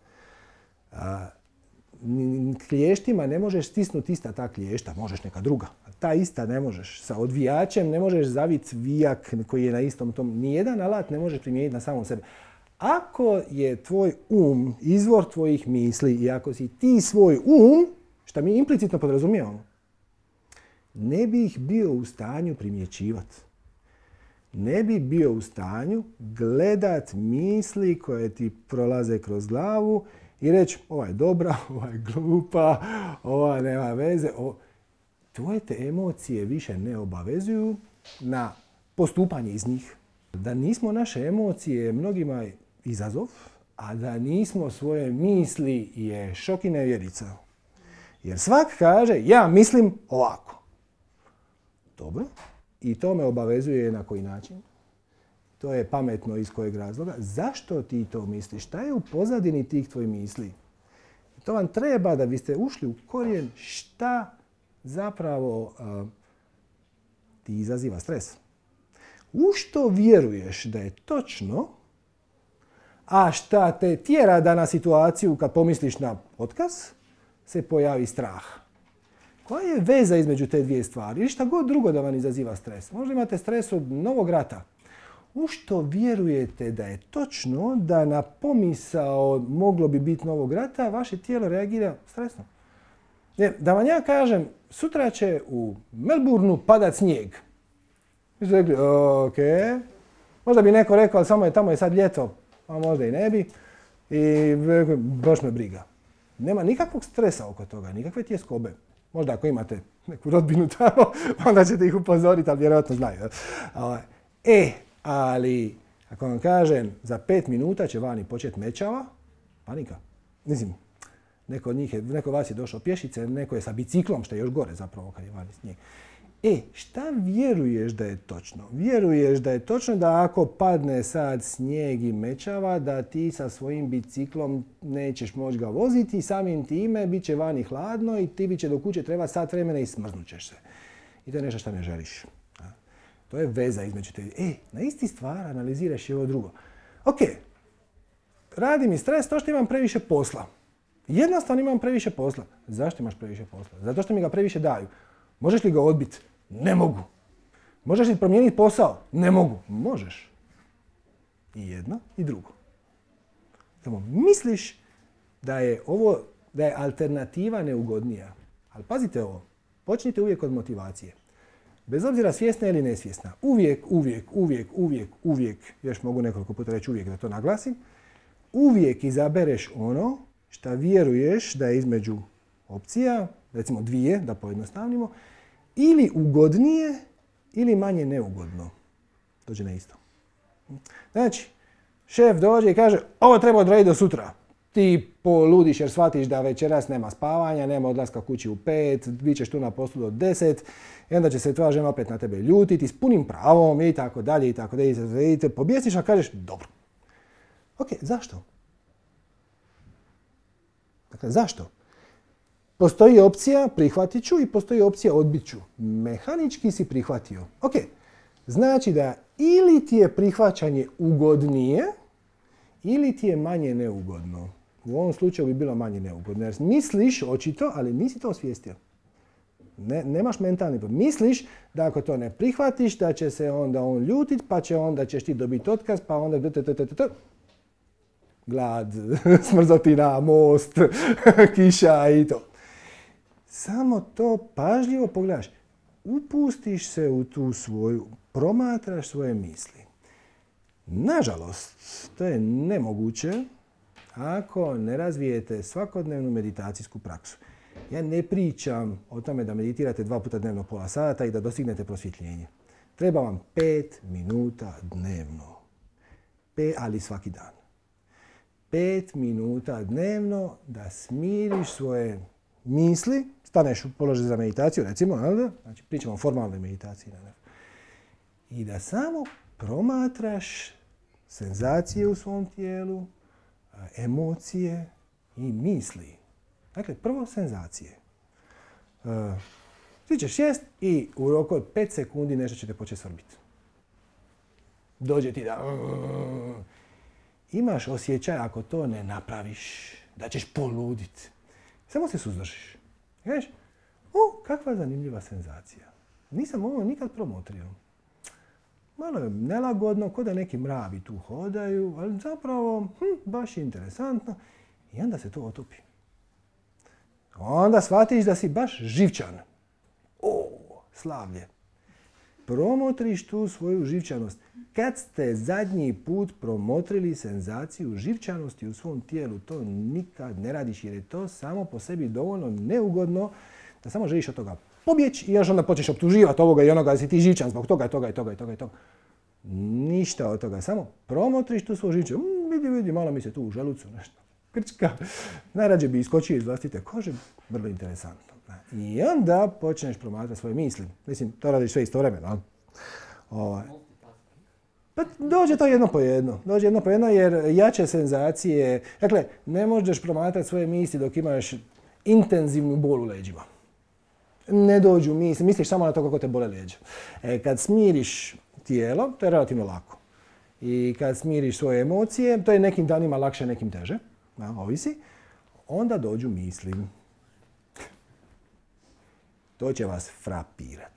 Kliještima ne možeš stisnuti ista ta kliješta, možeš neka druga. Ta ista ne možeš. Sa odvijačem ne možeš zaviti vijak koji je na istom tom. Nijedan alat ne možeš primijeniti na samom sebe. Ako je tvoj izvor tvojih misli i ako si ti svoj što mi implicitno podrazumijevamo, ne bi ih bio u stanju primjećivati. Ne bi bio u stanju gledat misli koje ti prolaze kroz glavu i reći ova je dobra, ova je glupa, ova nema veze. Tvoje te emocije više ne obavezuju na postupanje iz njih. Da nismo naše emocije mnogima izazov, a da nismo svoje misli je šok i nevjerica. Jer svak kaže, ja mislim ovako. Dobro. I to me obavezuje na koji način? To je pametno iz kojeg razloga. Zašto ti to misliš? Šta je u pozadini tih tvojih misli? To vam treba da biste ušli u korijen šta zapravo ti izaziva stres. U što vjeruješ da je točno, a šta te tjera da na situaciju kad pomisliš na otkaz se pojavi strah. Koja je veza između te dvije stvari? Ili šta god drugo da vam izaziva stres. Možda imate stres od novog rata. U što vjerujete da je točno da na pomisao moglo bi biti novog rata, vaše tijelo reagira stresno. Jer da vam ja kažem, sutra će u Melbourneu padat snijeg. Vi ste rekli, ok. Možda bi neko rekao, ali samo je tamo je sad ljeto, a možda i ne bi. I baš me briga. Nema nikakvog stresa oko toga, nikakve tjeskobe. Možda ako imate neku rodbinu tamo, onda ćete ih upozoriti, ali vjerojatno znaju. Ali ako vam kažem, za 5 minuta će vani početi mećava, panika. Mislim, neko vas je došao pješice, neko je sa biciklom, što je još gore zapravo kad je vani snijeg. Šta vjeruješ da je točno? Vjeruješ da je točno da ako padne sad snijeg i mećava, da ti sa svojim biciklom nećeš moći ga voziti i samim time bit će vani hladno i ti će do kuće treba sat vremena i smrznut ćeš se. I to je nešto što ne želiš. To je veza između te. Na isti stvar analiziraš i ovo drugo. Ok, radi mi stres to što imam previše posla. Jednostavno imam previše posla. Zašto imaš previše posla? Zato što mi ga previše daju. Možeš li ga odbiti? Ne mogu. Možeš li promijeniti posao? Ne mogu. Možeš. I jedno i drugo. Samo misliš da je alternativa neugodnija. Ali pazite ovo. Počnite uvijek od motivacije. Bez obzira svjesna ili nesvjesna. Uvijek, još mogu nekoliko puta reći uvijek da to naglasim, uvijek izabereš ono što vjeruješ da je između opcija, recimo dvije, da pojednostavnimo, ili ugodnije ili manje neugodno. Dođe na isto. Znači, šef dođe i kaže, ovo treba odraditi do sutra. Ti poludiš jer shvatiš da večeras nema spavanja, nema odlaska kući u 5, bit ćeš tu na poslu do 10 i onda će se tvoja žena opet na tebe ljutiti s punim pravom i tako dalje i tako dalje. I te pobjesniš, a kažeš dobro. Ok, zašto? Dakle, zašto? Postoji opcija prihvatit ću i postoji opcija odbit ću. Mehanički si prihvatio. Ok, znači da ili ti je prihvaćanje ugodnije ili ti je manje neugodno. U ovom slučaju bi bilo manje neugodno. Jer misliš očito, ali nisi to osvijestio. Nemaš mentalni problem. Misliš da ako to ne prihvatiš, da će se onda on ljutit, pa onda ćeš ti dobiti otkaz, pa onda glad, smrzotina, most, kiša i to. Samo to pažljivo pogledaš. Upustiš se u tu svoju, promatraš svoje misli. Nažalost, to je nemoguće ako ne razvijete svakodnevnu meditacijsku praksu. Ja ne pričam o tome da meditirate 2 puta dnevno pola sata i da dostignete prosvjetljenje. Treba vam 5 minuta dnevno. Ali svaki dan. 5 minuta dnevno da smiriš svoje misli, staneš u položaj za meditaciju, recimo, znači pričamo o formalnoj meditaciji. I da samo promatraš senzacije u svom tijelu, emocije i misli. Dakle, prvo senzacije. Ti ćeš sjest i u roku od 5 sekundi nešto će te početi svrbiti. Dođe ti da... Imaš osjećaj ako to ne napraviš, da ćeš poluditi. Samo se suzdržiš. I kažeš, kakva zanimljiva senzacija. Nisam ovo nikad promotrio. Malo je nelagodno, ko da neki mravi tu hodaju, ali zapravo baš interesantno. I onda se to otopi. Onda shvatiš da si baš živčan. Slavlje. Promotriš tu svoju živčanost. Kad ste zadnji put promotrili senzaciju živčanosti u svom tijelu, to nikad ne radiš jer je to samo po sebi dovoljno neugodno da samo želiš od toga pobjeći i još onda počneš optuživati ovoga i onoga da si ti živčan zbog toga i toga i toga i toga i toga. Ništa od toga, samo promotriš tu svoju živčanost. Vidi, malo mi se tu u želucu nešto. krčka. Najrađe bi iskočio iz vlastite kože, vrlo interesantno. I onda počneš promatrati svoje misli. Mislim, to radiš sve istovremeno. Pa dođe to jedno po jedno. Dođe jedno po jedno jer jače senzacije... Dakle, ne možeš promatrati svoje misli dok imaš intenzivnu bol u leđima. Ne dođu misli, misliš samo na to kako te bole leđa. Kad smiriš tijelo, to je relativno lako. I kad smiriš svoje emocije, to je nekim danima lakše, nekim teže, ovisi, onda dođu misli. To će vas frapirat.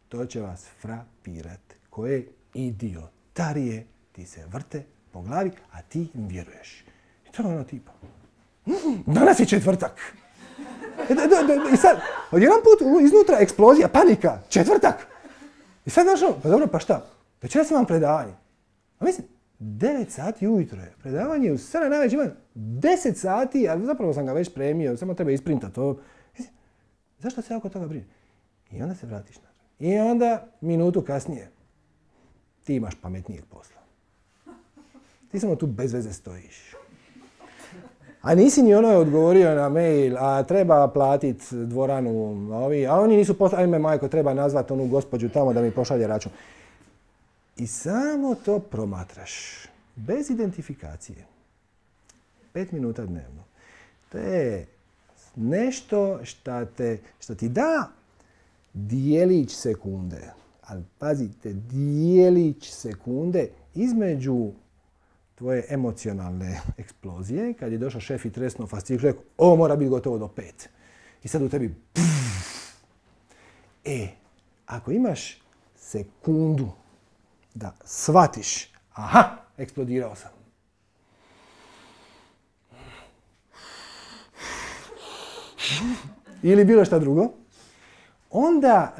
To će vas frapirat. Koje idiotarije ti se vrte po glavi, a ti im vjeruješ. I to je ono tipa. Danas je četvrtak. I sad, odjedan put iznutra eksplozija, panika, četvrtak. I sad znaš, pa dobro, pa šta? Večeras imam predavanje. A mislim, 9 sati ujutro je. Predavanje u 7 najveć ima 10 sati, a zapravo sam ga već premio, samo treba isprintati to. Mislim, zašto se oko toga brine? I onda se vratiš na to. I onda, minutu kasnije, ti imaš pametnijeg posla. Ti samo tu bez veze stojiš. A nisi ni ono odgovorio na mail, a treba platiti dvoranu, a oni nisu poslali, ajme majko, treba nazvati onu gospođu tamo da mi pošalje račun. I samo to promatraš, bez identifikacije. 5 minuta dnevno. To je nešto što ti da dijelić sekunde. Ali pazite, dijelić sekunde između tvoje emocionalne eksplozije, kad je došao šef i tresnuo fasciklu, rekao, ovo mora biti gotovo do 5. I sad u tebi, ako imaš sekundu da shvatiš, aha, eksplodirao sam. Ili bilo šta drugo, onda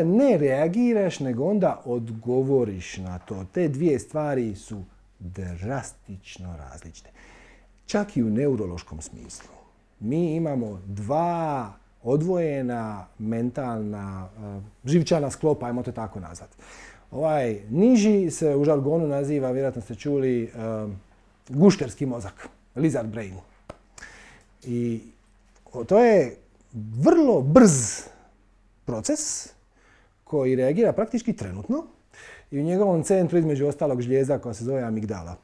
ne reagiraš, nego onda odgovoriš na to. Te dvije stvari su drastično različite. Čak i u neurološkom smislu. Mi imamo dva odvojena mentalna, živčana sklopa, ajmo to tako nazvati. Ovaj niži se u žargonu naziva, vjerojatno ste čuli, gušterski mozak, lizard brain. I to je vrlo brz proces koji reagira praktički trenutno i u njegovom centru između ostalog žlijeza koja se zove amigdala.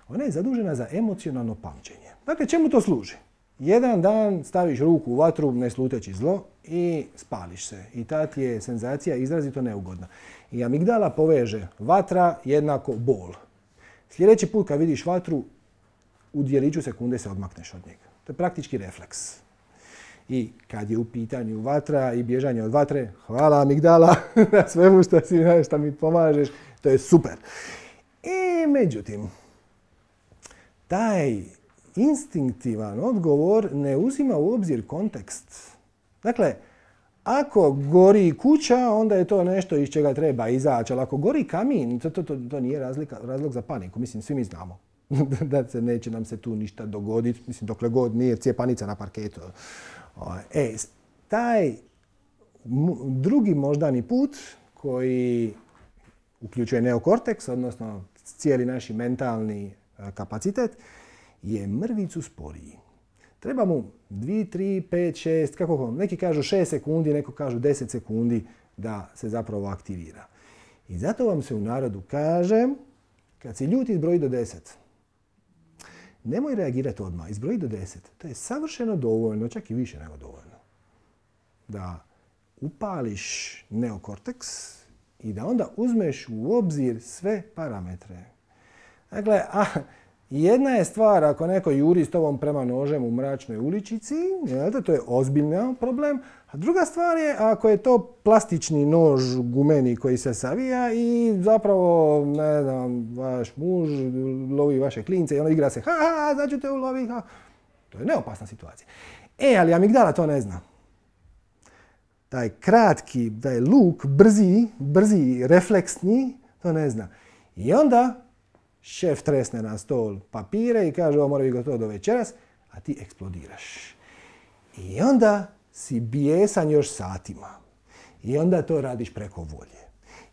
Ona je zadužena za emocionalno pamćenje. Dakle, čemu to služi? Jedan dan staviš ruku u vatru, ne sluteći zlo, i spališ se. I ta ti je senzacija izrazito neugodna. I amigdala poveže vatra jednako bol. Sljedeći put kad vidiš vatru, u djeliću sekunde se odmakneš od njega. To je praktički refleks. I kad je u pitanju vatra i bježanje od vatre, hvala amigdala na svemu što mi pomažeš, to je super. I međutim, taj instinktivan odgovor ne uzima u obzir kontekst. Dakle, ako gori kuća, onda je to nešto iz čega treba izaći, ali ako gori kamin, to nije razlog za paniku. Mislim, svi mi znamo da se neće nam se tu ništa dogoditi, mislim, dokle god nije cijepanica na parketu. Taj drugi moždani put koji uključuje neokorteks, odnosno cijeli naš mentalni kapacitet, je mrvicu sporiji. Treba mu 2, 3, 5, 6, kako neki kažu 6 sekundi, neko kažu 10 sekundi da se zapravo aktivira. I zato vam se u narodu kaže, kad si ljut izbroji do 10. Nemoj reagirati odmah, izbroji do 10. To je savršeno dovoljno, čak i više nego dovoljno. Da upališ neokorteks i da onda uzmeš u obzir sve parametre. Dakle, jedna je stvar ako neko juri s tobom prema nožem u mračnoj uličici, to je ozbiljan problem. A druga stvar je ako je to plastični nož gumeni koji se savija i zapravo, ne znam, vaš muž lovi vaše klince i ono igra se, sad ću te uloviti. To je neopasna situacija. Ali amigdala to ne zna. Taj kratki, taj luk, brzi, refleksni, to ne zna. I onda šef tresne na stol papire i kaže ovo mora biti gotovo do večeras, a ti eksplodiraš. I onda si bijesan još satima. I onda to radiš preko volje.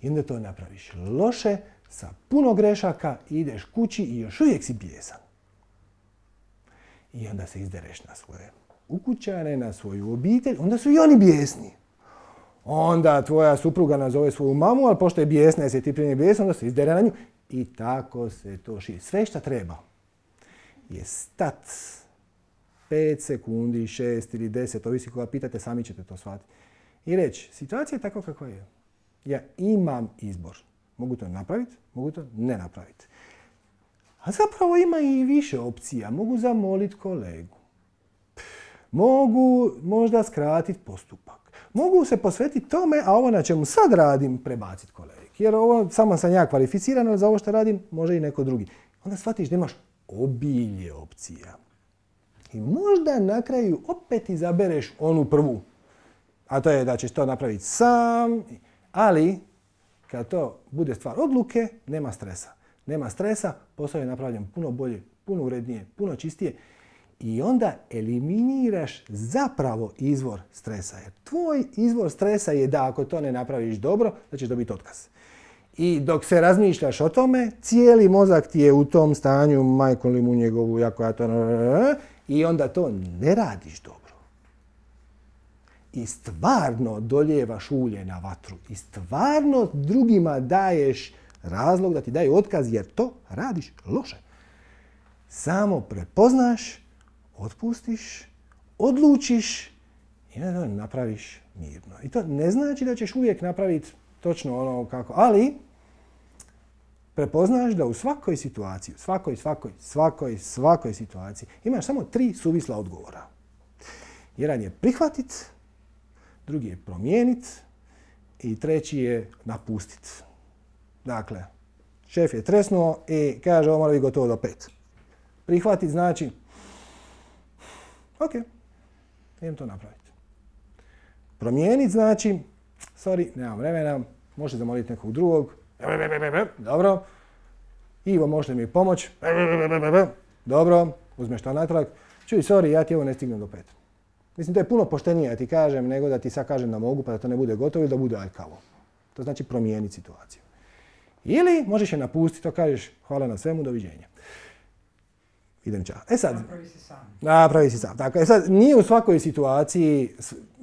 I onda to napraviš loše, sa puno grešaka, ideš kući i još uvijek si bijesan. I onda se izdereš na svoje ukućane, na svoju obitelj, onda su i oni bijesni. Onda tvoja supruga nazove svoju mamu, ali pošto je bijesna, jer si ti prije bijesna, onda se izdere na nju. I tako se to širi. Sve što treba je stat 5 sekundi, 6 ili 10, ovisi koga pitate, sami ćete to shvatiti. I reći, situacija je tako kakva je. Ja imam izbor. Mogu to napraviti, mogu to ne napraviti. A zapravo ima i više opcija. Mogu zamoliti kolegu. Mogu možda skratiti postupak. Mogu se posvetiti tome, a ovo na čemu sad radim, prebaciti kolegi. Jer ovo samo sam ja kvalificiran, ali za ovo što radim može i neko drugi. Onda shvatiš da imaš obilje opcija. I možda na kraju opet izabereš onu prvu. A to je da ćeš to napraviti sam, ali kad to bude stvar odluke, nema stresa. Nema stresa, posao je napravljen puno bolje, puno urednije, puno čistije. I onda eliminiraš zapravo izvor stresa. Jer tvoj izvor stresa je da ako to ne napraviš dobro, da ćeš dobiti otkaz. I dok se razmišljaš o tome, cijeli mozak ti je u tom stanju, majko li mu njegovu, jako ja to... I onda to ne radiš dobro. I stvarno doljevaš ulje na vatru. I stvarno drugima daješ razlog da ti daju otkaz jer to radiš loše. Samo prepoznaš, otpustiš, odlučiš i onda napraviš mirno. I to ne znači da ćeš uvijek napraviti točno ono kako, ali prepoznaš da u svakoj situaciji, svakoj situaciji imaš samo 3 suvisla odgovora. Jedan je prihvatiti, drugi je promijeniti i treći je napustiti. Dakle, šef je tresnuo i kaže ovo mora biti gotovo do 5. Prihvatiti znači ok, idem to napraviti. Promijeniti znači sorry, nemam vremena, možete zamoliti nekog drugog. Dobro. Ivo, možete mi pomoći? Dobro, uzmeš to natrag. Čuj, sorry, ja ti ovo ne stignem do 5. Mislim, to je puno poštenije da ti kažem nego da ti sad kažem da mogu pa da to ne bude gotovo ili da bude aljkavo. To znači promijeniti situaciju. Ili možeš je napustiti, to kažeš hvala na svemu, doviđenja. Idem ča. E sad, napravi si sam. Tako, sad, nije u svakoj situaciji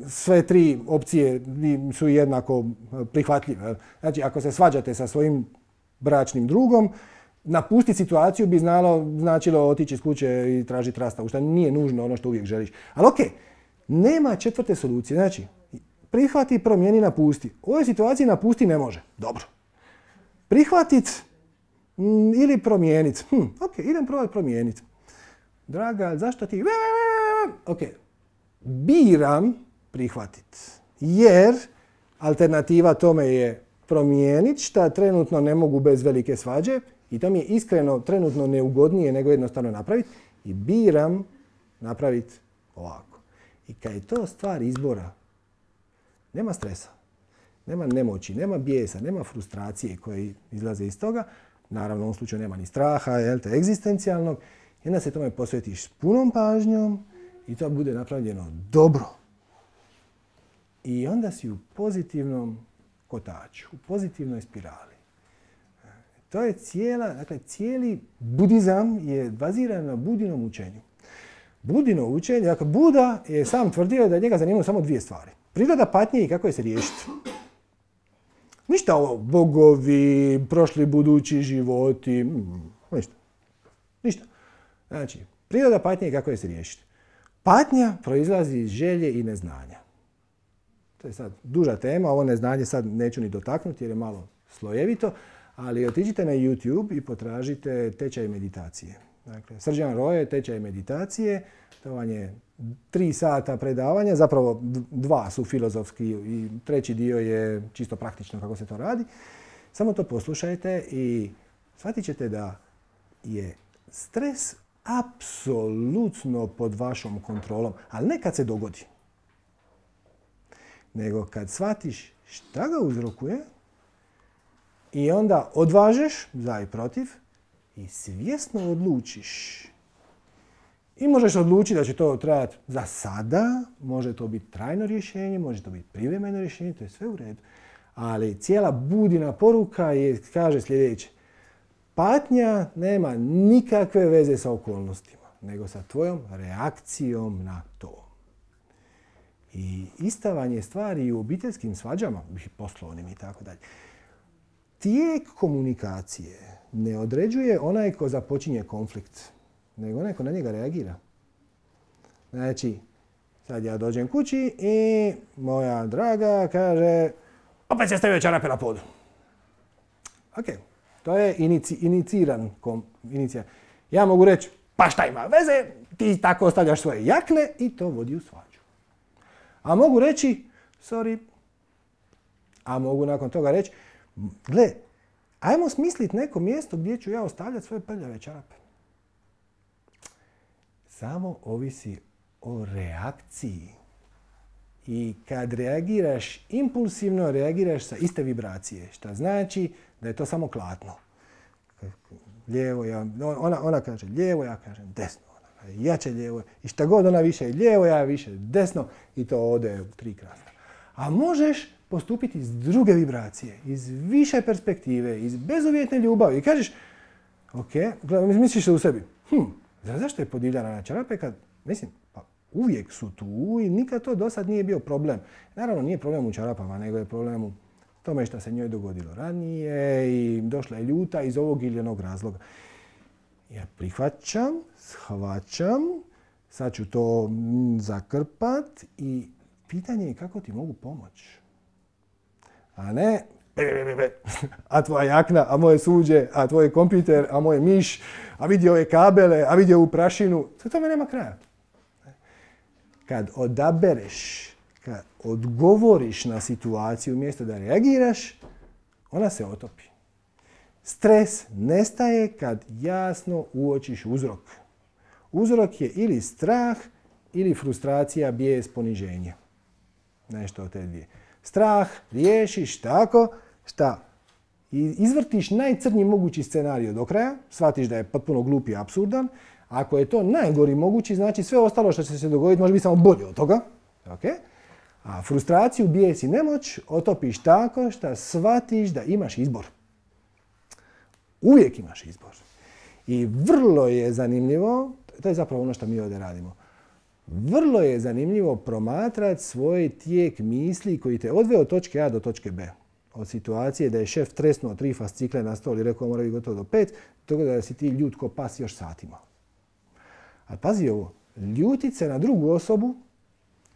sve 3 opcije su jednako prihvatljive. Znači, ako se svađate sa svojim bračnim drugom, napustiti situaciju bi značilo otići iz kuće i tražiti rastavu, što nije nužno ono što uvijek želiš. Ali ok, nema 4. solucije. Znači, prihvati, promijeni, napusti. U ovoj situaciji napusti ne može. Dobro. Prihvatiti ili promijeniti. Ok, idem probati promijeniti. Draga, zašto ti... Ok, biram prihvatiti. Jer alternativa tome je promijeniti šta trenutno ne mogu bez velike svađe i to mi je iskreno trenutno neugodnije nego jednostavno napraviti i biram napraviti ovako. I kad je to stvar izbora, nema stresa, nema nemoći, nema bijesa, nema frustracije koje izlaze iz toga. Naravno, u ovom slučaju nema ni straha, egzistencijalnog. I onda se tome posvetiš s punom pažnjom i to bude napravljeno dobro. I onda si u pozitivnom kotaču, u pozitivnoj spirali. To je cijeli budizam je baziran na Budinom učenju. Budino učenje, dakle Buda je sam tvrdio da njega zanimaju samo 2 stvari. Priroda patnje i kako je se riješiti. Ništa ovo, bogovi, prošli budući životi, ništa. Znači, priroda patnje i kako je se riješiti. Patnja proizlazi iz želje i neznanja. To je sad duža tema, ovo neznanje sad neću ni dotaknuti jer je malo slojevito, ali otiđite na YouTube i potražite tečaj meditacije. Dakle, Srdjan Roje, tečaj meditacije, to vam je 3 sata predavanja, zapravo 2 su filozofski i 3. dio je čisto praktično kako se to radi. Samo to poslušajte i shvatit ćete da je stres apsolutno pod vašom kontrolom, ali ne kad se dogodi. Nego kad shvatiš šta ga uzrokuje i onda odvažeš za i protiv i svjesno odlučiš. I možeš odlučiti da će to trajati za sada, može to biti trajno rješenje, može to biti privremeno rješenje, to je sve u redu. Ali cijela Budina poruka kaže sljedeće. Patnja nema nikakve veze sa okolnostima. nego sa tvojom reakcijom na to. I ista vam je stvar i u obiteljskim svađama, poslovnim i tako dalje. Tijek komunikacije ne određuje onaj ko započinje konflikt, nego onaj ko na njega reagira. Znači, sad ja dođem kući i moja draga kaže opet se stavio čarape na podu. Ok, to je iniciran. Ja mogu reći, pa šta ima veze, ti tako ostavljaš svoje jakne i to vodi u svađu. A mogu reći, sorry, a mogu nakon toga reći, gle, ajmo smisliti neko mjesto gdje ću ja ostavljati svoje prljave čarape. Samo ovisi o reakciji. I kad reagiraš impulsivno, reagiraš sa iste vibracije. Što znači da je to samo klatno. Lijevo, ona kaže lijevo, ja kažem desno. Ona kaže jače lijevo. I šta god ona više lijevo, ja više desno. I to ode u 3 kratka. A možeš postupiti iz druge vibracije, iz više perspektive, iz bezuvjetne ljubavi. I kažeš, ok, misliš se u sebi, zašto je podivljana na čarape kad, mislim, pa uvijek su tu i nikad to do sad nije bio problem. Naravno, nije problem u čarapama, nego je problem u tome što se njoj dogodilo ranije i došla je ljuta iz ovog ili onog razloga. Ja prihvaćam, shvaćam, sad ću to zakrpat i pitanje je kako ti mogu pomoći. A ne, a tvoja jakna, a moje suđe, a tvoj kompjuter, a moj miš, a vidi ove kabele, a vidi ovu prašinu. Sve tome nema kraja. Kad odabereš, kad odgovoriš na situaciju umjesto da reagiraš, ona se otopi. Stres nestaje kad jasno uočiš uzrok. Uzrok je ili strah, ili frustracija, bijes, poniženje. Nešto od te dvije. Strah riješiš tako šta izvrtiš najcrnji mogući scenarij do kraja, shvatiš da je potpuno glup i apsurdan. Ako je to najgori mogući, znači sve ostalo što će se dogoditi može biti samo bolje od toga. Okay? A frustraciju, bijes i nemoć otopiš tako što shvatiš da imaš izbor. Uvijek imaš izbor. I vrlo je zanimljivo, to je zapravo ono što mi ovdje radimo, vrlo je zanimljivo promatrati svoj tijek misli koji te odveo od točke A do točke B. Od situacije da je šef tresnuo 3 fascikle na stol i rekao mora biti gotovo do 5, toga da si ti ljut ko pas još satima. Ali pazi ovo, ljutit se na drugu osobu,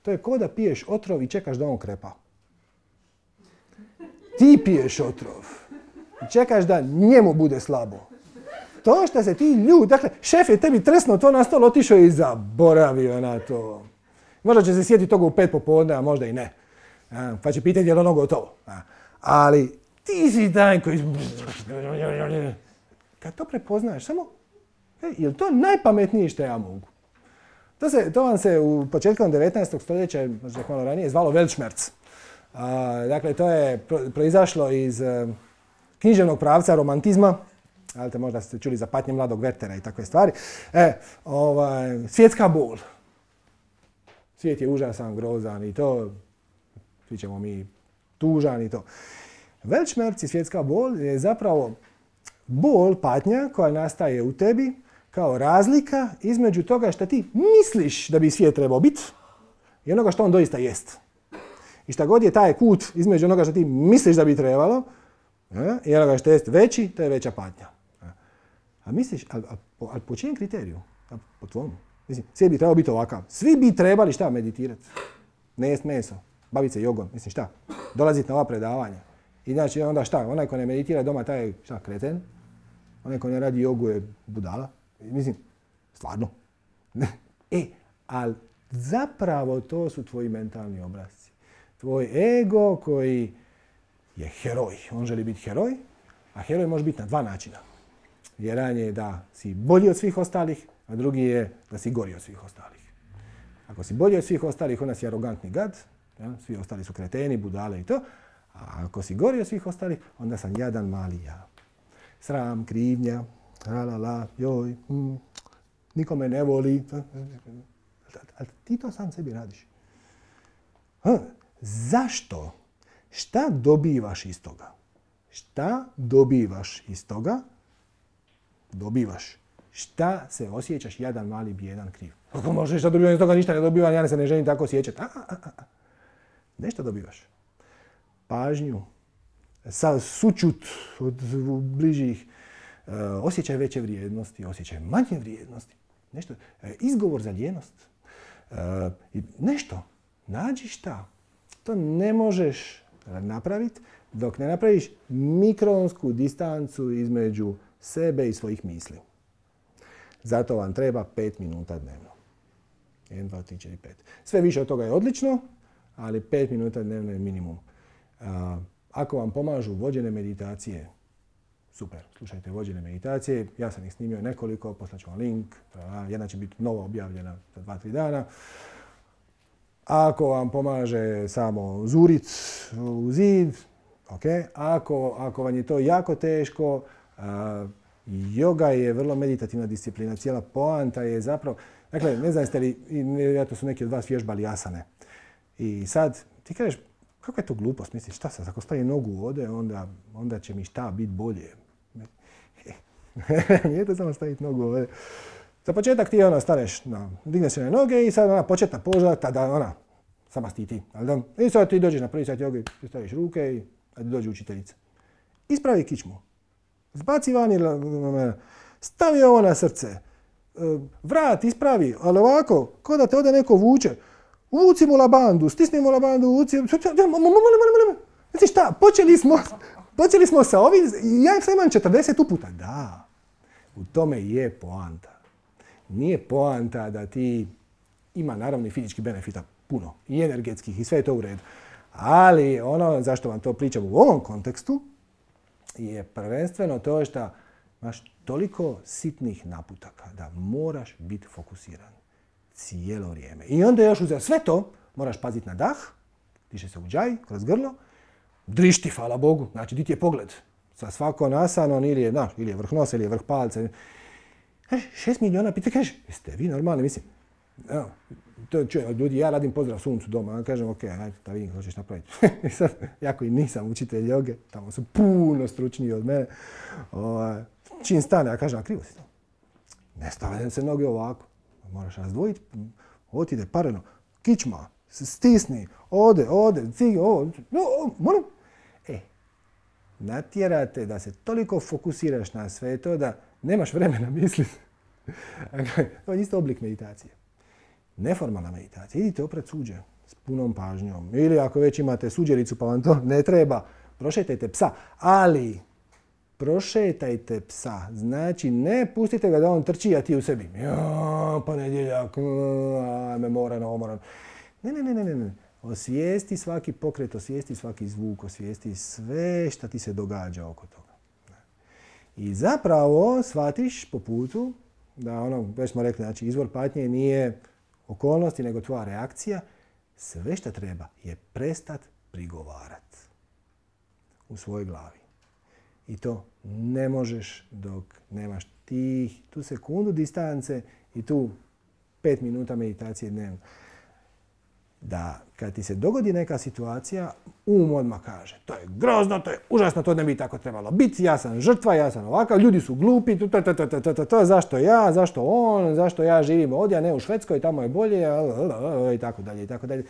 to je kao da piješ otrov i čekaš da on krepa. Ti piješ otrov i čekaš da njemu bude slabo. To što se ti ljut, dakle, šef je tebi tresnuo to na stol, otišao i zaboravio na to. Možda će se sjetiti toga u 5 popodne, a možda i ne. Pa će pitati je li ono gotovo. Ali ti si taj koji... Kad to prepoznaješ, samo, je li to najpametnije što ja mogu? To vam se u početkom 19. stoljeća, možda malo ranije, zvalo Weltschmerz. Dakle, to je proizašlo iz književnog pravca romantizma. Možda ste čuli za patnje mladog Wertera i takve stvari. Svjetska bol. Svijet je užasan, grozan i to. Svi ćemo mi tužan i to. Weltschmerz i svjetska bol je zapravo bol, patnja koja nastaje u tebi kao razlika između toga što ti misliš da bi svijet trebao biti i onoga što on doista jest. I šta god je taj kut između onoga što ti misliš da bi trebalo i onoga što jest veći, to je veća patnja. A misliš, ali po čijem kriteriju? Po tvom. Mislim, svijet bi trebao biti ovakav. Svi bi trebali šta meditirati? Ne jest meso, baviti se jogom. Mislim šta? Dolaziti na ova predavanja. I znači onda šta? Onaj ko ne meditira doma, taj je šta? Kreten. Onaj ko ne radi jogu je budala. Mislim, stvarno. Ali zapravo to su tvoji mentalni obrazci. Tvoj ego koji je heroj. On želi biti heroj, a heroj može biti na 2 načina. Jedan je da si bolji od svih ostalih, a drugi je da si gori od svih ostalih. Ako si bolji od svih ostalih, onda si arogantni gad, svi ostali su kreteni, budale i to. A ako si gori od svih ostalih, onda sam jadan mali ja. Sram, krivnja, joj, niko me ne voli. Ali ti to sam sebi radiš. Zašto? Šta dobivaš iz toga? Šta dobivaš iz toga? Dobivaš Šta se osjećaš jadan, mali, bijedan, kriv? Kako možeš da dobivam iz toga ništa ne dobivam, ja se ne želim tako osjećati. Nešto dobivaš. Pažnju, sućut od bližih, osjećaj veće vrijednosti, osjećaj manje vrijednosti. Nešto, izgovor za ljenost. Nešto. Nađi šta. To ne možeš napraviti dok ne napraviš mikronsku distancu između sebe i svojih misli. Zato vam treba 5 minuta dnevno. 1, 2, 3, 4, 5. Sve više od toga je odlično, ali 5 minuta dnevno je minimum. Ako vam pomažu vođene meditacije, super, slušajte vođene meditacije. Ja sam ih snimio nekoliko, poslaću vam link. Jedna će biti novo objavljena za 2-3 dana. Ako vam pomaže samo zuric u zid, ok. Ako vam je to jako teško, joga je vrlo meditativna disciplina. Cijela poanta je zapravo... Dakle, ne znam jeste li, vjerojatno su neki od vas vježbali asane. I sad ti kažeš, kako je to glupost? Misliš, šta sad, ako stavim nogu ovdje, onda će mi šta biti bolje. Nije to samo staviti nogu ovdje. Za početak ti staneš, digneš se na noge i sad početna poza, tada sama stiti. I sad ti dođeš na prvi sat joge, ti staviš ruke i dođe učiteljica. Ispravi kičmu. Zbaci vani, stavi ovo na srce. Vrat, ispravi, ali ovako, ko da te ode neko vuče. Vuci mu labandu, stisni mu labandu, vuci... Molim. Znači šta, počeli smo sa ovim, ja sam imam 40 uputa. Da, u tome je poanta. Nije poanta da ti ima naravno i fizičkih benefita puno, i energetskih, i sve je to u redu. Ali ono zašto vam to pričam u ovom kontekstu je prvenstveno to što imaš toliko sitnih naputaka da moraš biti fokusiran cijelo vrijeme. I onda još uz sve to moraš paziti na dah, diše se u džaj, kroz grlo, drišti, hvala Bogu, znači di ti je pogled. Sa svako nasanom ili je vrh nosa ili je vrh palca. 6 miliona pita, kažeš, jeste vi normalni, mislim. To čuje od ljudi, ja radim pozdrav suncu doma, ja kažem, ok, ajde, da vidim kako ćeš napraviti. Sad, jako i nisam učitelj joge, tamo su puno stručniji od mene. Čim stane, ja kažem, a krivo si to. Ne stavljam se noge ovako. Moraš razdvojiti, ovo ti ide pareno. Kičma, stisni, ode, cigi, moram. Natjerate da se toliko fokusiraš na sve to da nemaš vremena misliti. To je isto oblik meditacije. Neformalna meditacija. Idite opred suđe s punom pažnjom. Ili ako već imate suđericu pa vam to ne treba, prošetajte psa. Ali prošetajte psa. Znači ne pustite ga da on trči, a ti u sebi. Ponedjeljak, me moram. Ne. Osvijesti svaki pokret, osvijesti svaki zvuk, osvijesti sve što ti se događa oko toga. I zapravo shvatiš po putu da već smo rekli, znači izvor patnje nije okolnosti, nego tvoja reakcija. Sve što treba je prestat prigovarati u svojoj glavi. I to ne možeš dok nemaš tu sekundu distance i tu 5 minuta meditacije dnevno. Da kad ti se dogodi neka situacija, odmah kaže, to je grozno, to je užasno, to ne bi tako trebalo biti, ja sam žrtva, ja sam ovakav, ljudi su glupi, zašto ja, zašto on, zašto ja živim ovdje, a ne u Švedskoj, tamo je bolje, i tako dalje.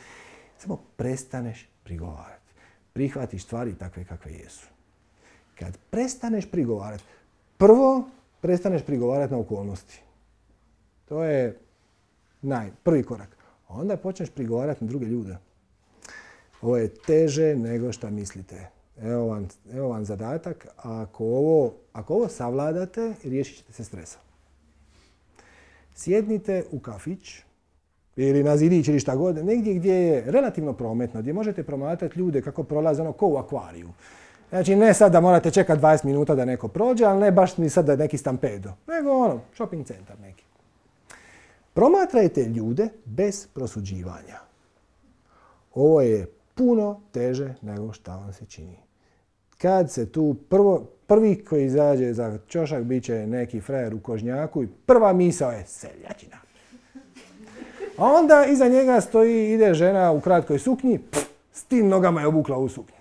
Samo prestaneš prigovarati. Prihvatiš stvari takve kakve jesu. Kad prestaneš prigovarati, prvo prestaneš prigovarati na okolnosti. To je prvi korak. Onda počneš prigovarati na druge ljude. Ovo je teže nego što mislite. Evo vam zadatak. Ako ovo savladate, riješit ćete se stresa. Sjednite u kafić ili na zidić ili šta god, negdje gdje je relativno prometno, gdje možete promatrati ljude kako prolaze ko u akvariju. Znači ne sad da morate čekati 20 minuta da neko prođe, ali ne baš ni sad da neki stampedo, nego shopping centar neki. Promatrajte ljude bez prosuđivanja. Ovo je puno teže nego što vam se čini. Kad se tu prvi koji izađe za ćošak bit će neki frajer u kožnjaku i prva misao je seljačina. A onda iza njega ide žena u kratkoj suknji, s tim nogama je obukla u suknju.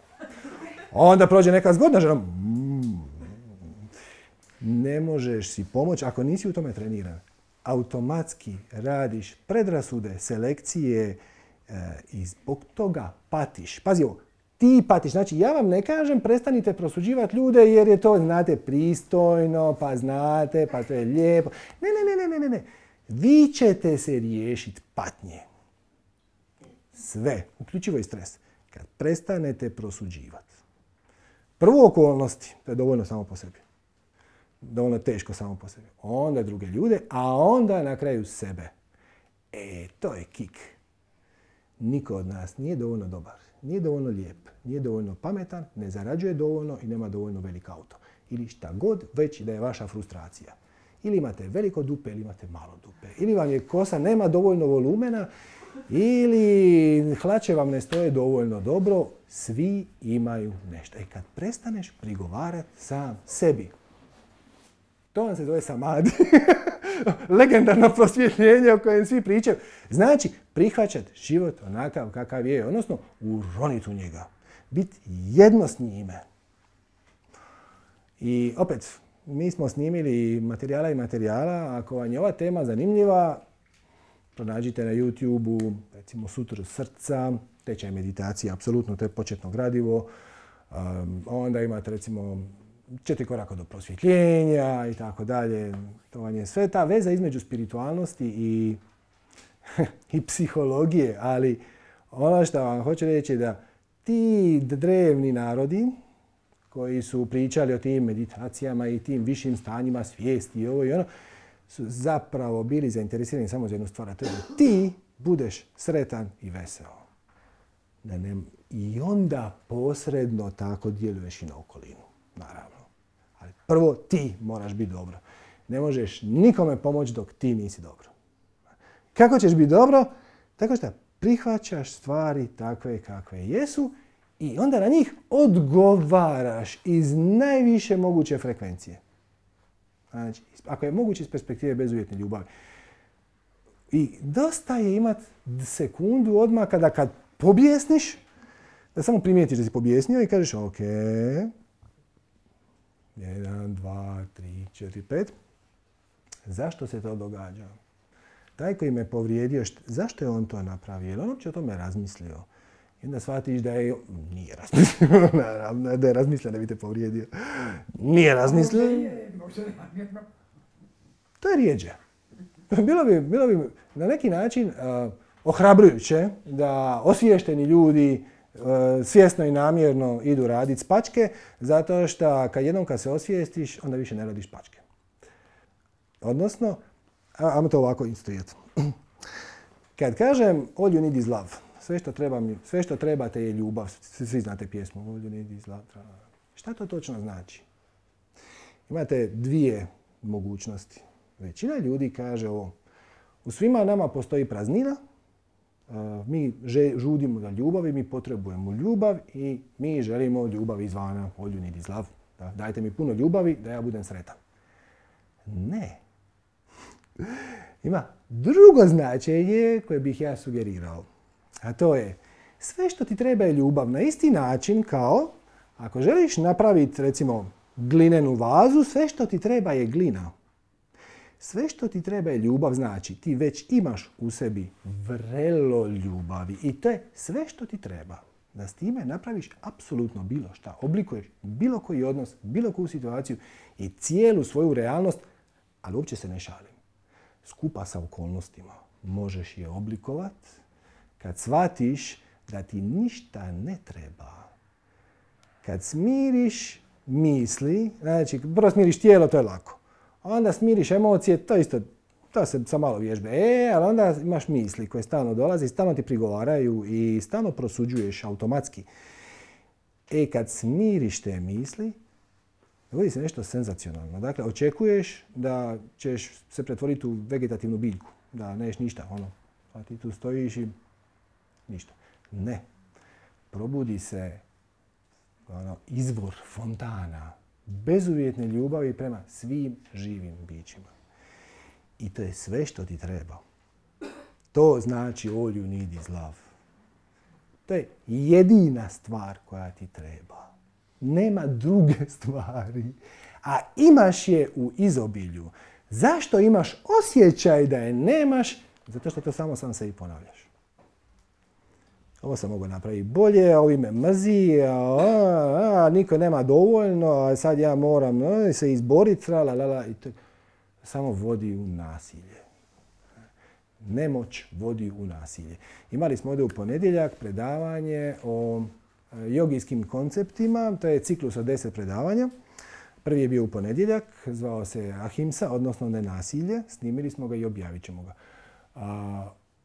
A onda prođe neka zgodna žena. Ne možeš si pomoći ako nisi u tome treniran. Automatski radiš predrasude, selekcije i zbog toga patiš. Pazi ovo, ti patiš. Znači, ja vam ne kažem prestanite prosuđivati ljude jer je to, znate, pristojno, pa znate, pa to je lijepo. Ne. Vi ćete se riješiti patnje. Sve, uključivo i stres. Kad prestanete prosuđivati. Prvo okolnosti, to je dovoljno samo po sebi. Dovoljno teško samo po sebi. Onda druge ljude, a onda na kraju sebe. To je kik. Niko od nas nije dovoljno dobar, nije dovoljno lijep, nije dovoljno pametan, ne zarađuje dovoljno i nema dovoljno velik auto. Ili šta god već da je vaša frustracija. Ili imate veliko dupe ili imate malo dupe. Ili vam je kosa nema dovoljno volumena, ili hlače vam ne stoje dovoljno dobro. Svi imaju nešto. Kad prestaneš prigovarati sam sebi. To vam se zove samadi. Legendarno prosvjetljenje o kojem svi pričaju. Znači, prihvaćati život onakav kakav je, odnosno uroniti u njega. Biti jedno s njime. I opet, mi smo snimili materijala. Ako vam je ova tema zanimljiva, pronađite na YouTube-u, recimo Sutra srca, tečaj meditacije, apsolutno, to je početno gradivo. Onda imate, recimo, 4 koraka do prosvjetljenja i tako dalje. To vam je sve ta veza između spiritualnosti i psihologije, ali ono što vam hoću reći je da ti drevni narodi koji su pričali o tim meditacijama i tim višim stanjima svijesti i ovo i ono, su zapravo bili zainteresirani samo za jednu stvar, a to je da ti budeš sretan i veseo. I onda posredno tako djeluješ i na okolinu, naravno. Ali prvo ti moraš biti dobro. Ne možeš nikome pomoći dok ti nisi dobro. Kako ćeš biti dobro? Tako što prihvaćaš stvari takve kakve jesu i onda na njih odgovaraš iz najviše moguće frekvencije. Znači, ako je moguće iz perspektive bezuvjetne ljubavi. I dosta je imati sekundu odmah kad pobjesniš, da samo primijetiš da si pobjesnio i kažeš ok, 1, 2, 3, 4, 5. Zašto se to događa? Taj koji me povrijedio, zašto je on to napravio? Je li on uopće o tome razmislio? I onda shvatiš da je... Nije razmislio, naravno, da je razmislio da bi te povrijedio. Nije razmislio. To je rijeđe. Bilo bi na neki način ohrabrujuće da osviješteni ljudi svjesno i namjerno idu raditi spačke, zato što kad se osvijestiš, onda više ne radiš spačke. Odnosno, ajmo to ovako instalirati. Kad kažem all you need is love, sve što trebate je ljubav, svi znate pjesmu all you need is love. Šta to točno znači? Imate dvije mogućnosti. Većina ljudi kaže ovo, u svima nama postoji praznina, mi žudimo za ljubav i mi potrebujemo ljubav i mi želimo ljubav izvana, all you need is love. Dajte mi puno ljubavi da ja budem sretan. Ne. Ima drugo značenje koje bih ja sugerirao. A to je, sve što ti treba je ljubav na isti način kao ako želiš napraviti, recimo, glinenu vazu, sve što ti treba je glina. Sve što ti treba je ljubav, znači ti već imaš u sebi vrelo ljubavi i to je sve što ti treba. Da s time napraviš apsolutno bilo šta, oblikuješ bilo koji odnos, bilo koju situaciju i cijelu svoju realnost, ali uopće se ne šalim. Skupa sa okolnostima možeš je oblikovati kad shvatiš da ti ništa ne treba. Kad smiriš misli, znači prvo smiriš tijelo, to je lako. Onda smiriš emocije, to se sa malo vježbe. Ali onda imaš misli koje stalno dolaze, stalno ti prigovaraju i stalno prosuđuješ automatski. Kad smiriš te misli, dogodi se nešto senzacionalno. Dakle, očekuješ da ćeš se pretvoriti u vegetativnu biljku, da neš ništa, a ti tu stojiš i ništa. Ne. Probudi se izvor fontana bezuvjetne ljubavi prema svim živim bićima. I to je sve što ti treba. To znači all you need is love. To je jedina stvar koja ti treba. Nema druge stvari. a imaš je u izobilju. Zašto imaš osjećaj da je nemaš? Zato što to samo sam sebi ponavljaš. Ovo sam mogao napraviti bolje, ovi me mrzi, niko nema dovoljno, a sad ja moram se izboriti, i to samo vodi u nasilje. Nemoć vodi u nasilje. Imali smo ovdje u ponedjeljak predavanje o jogijskim konceptima, to je ciklus od 10 predavanja. Prvi je bio u ponedjeljak, zvao se Ahimsa, odnosno nenasilje. Snimili smo ga i objavit ćemo ga.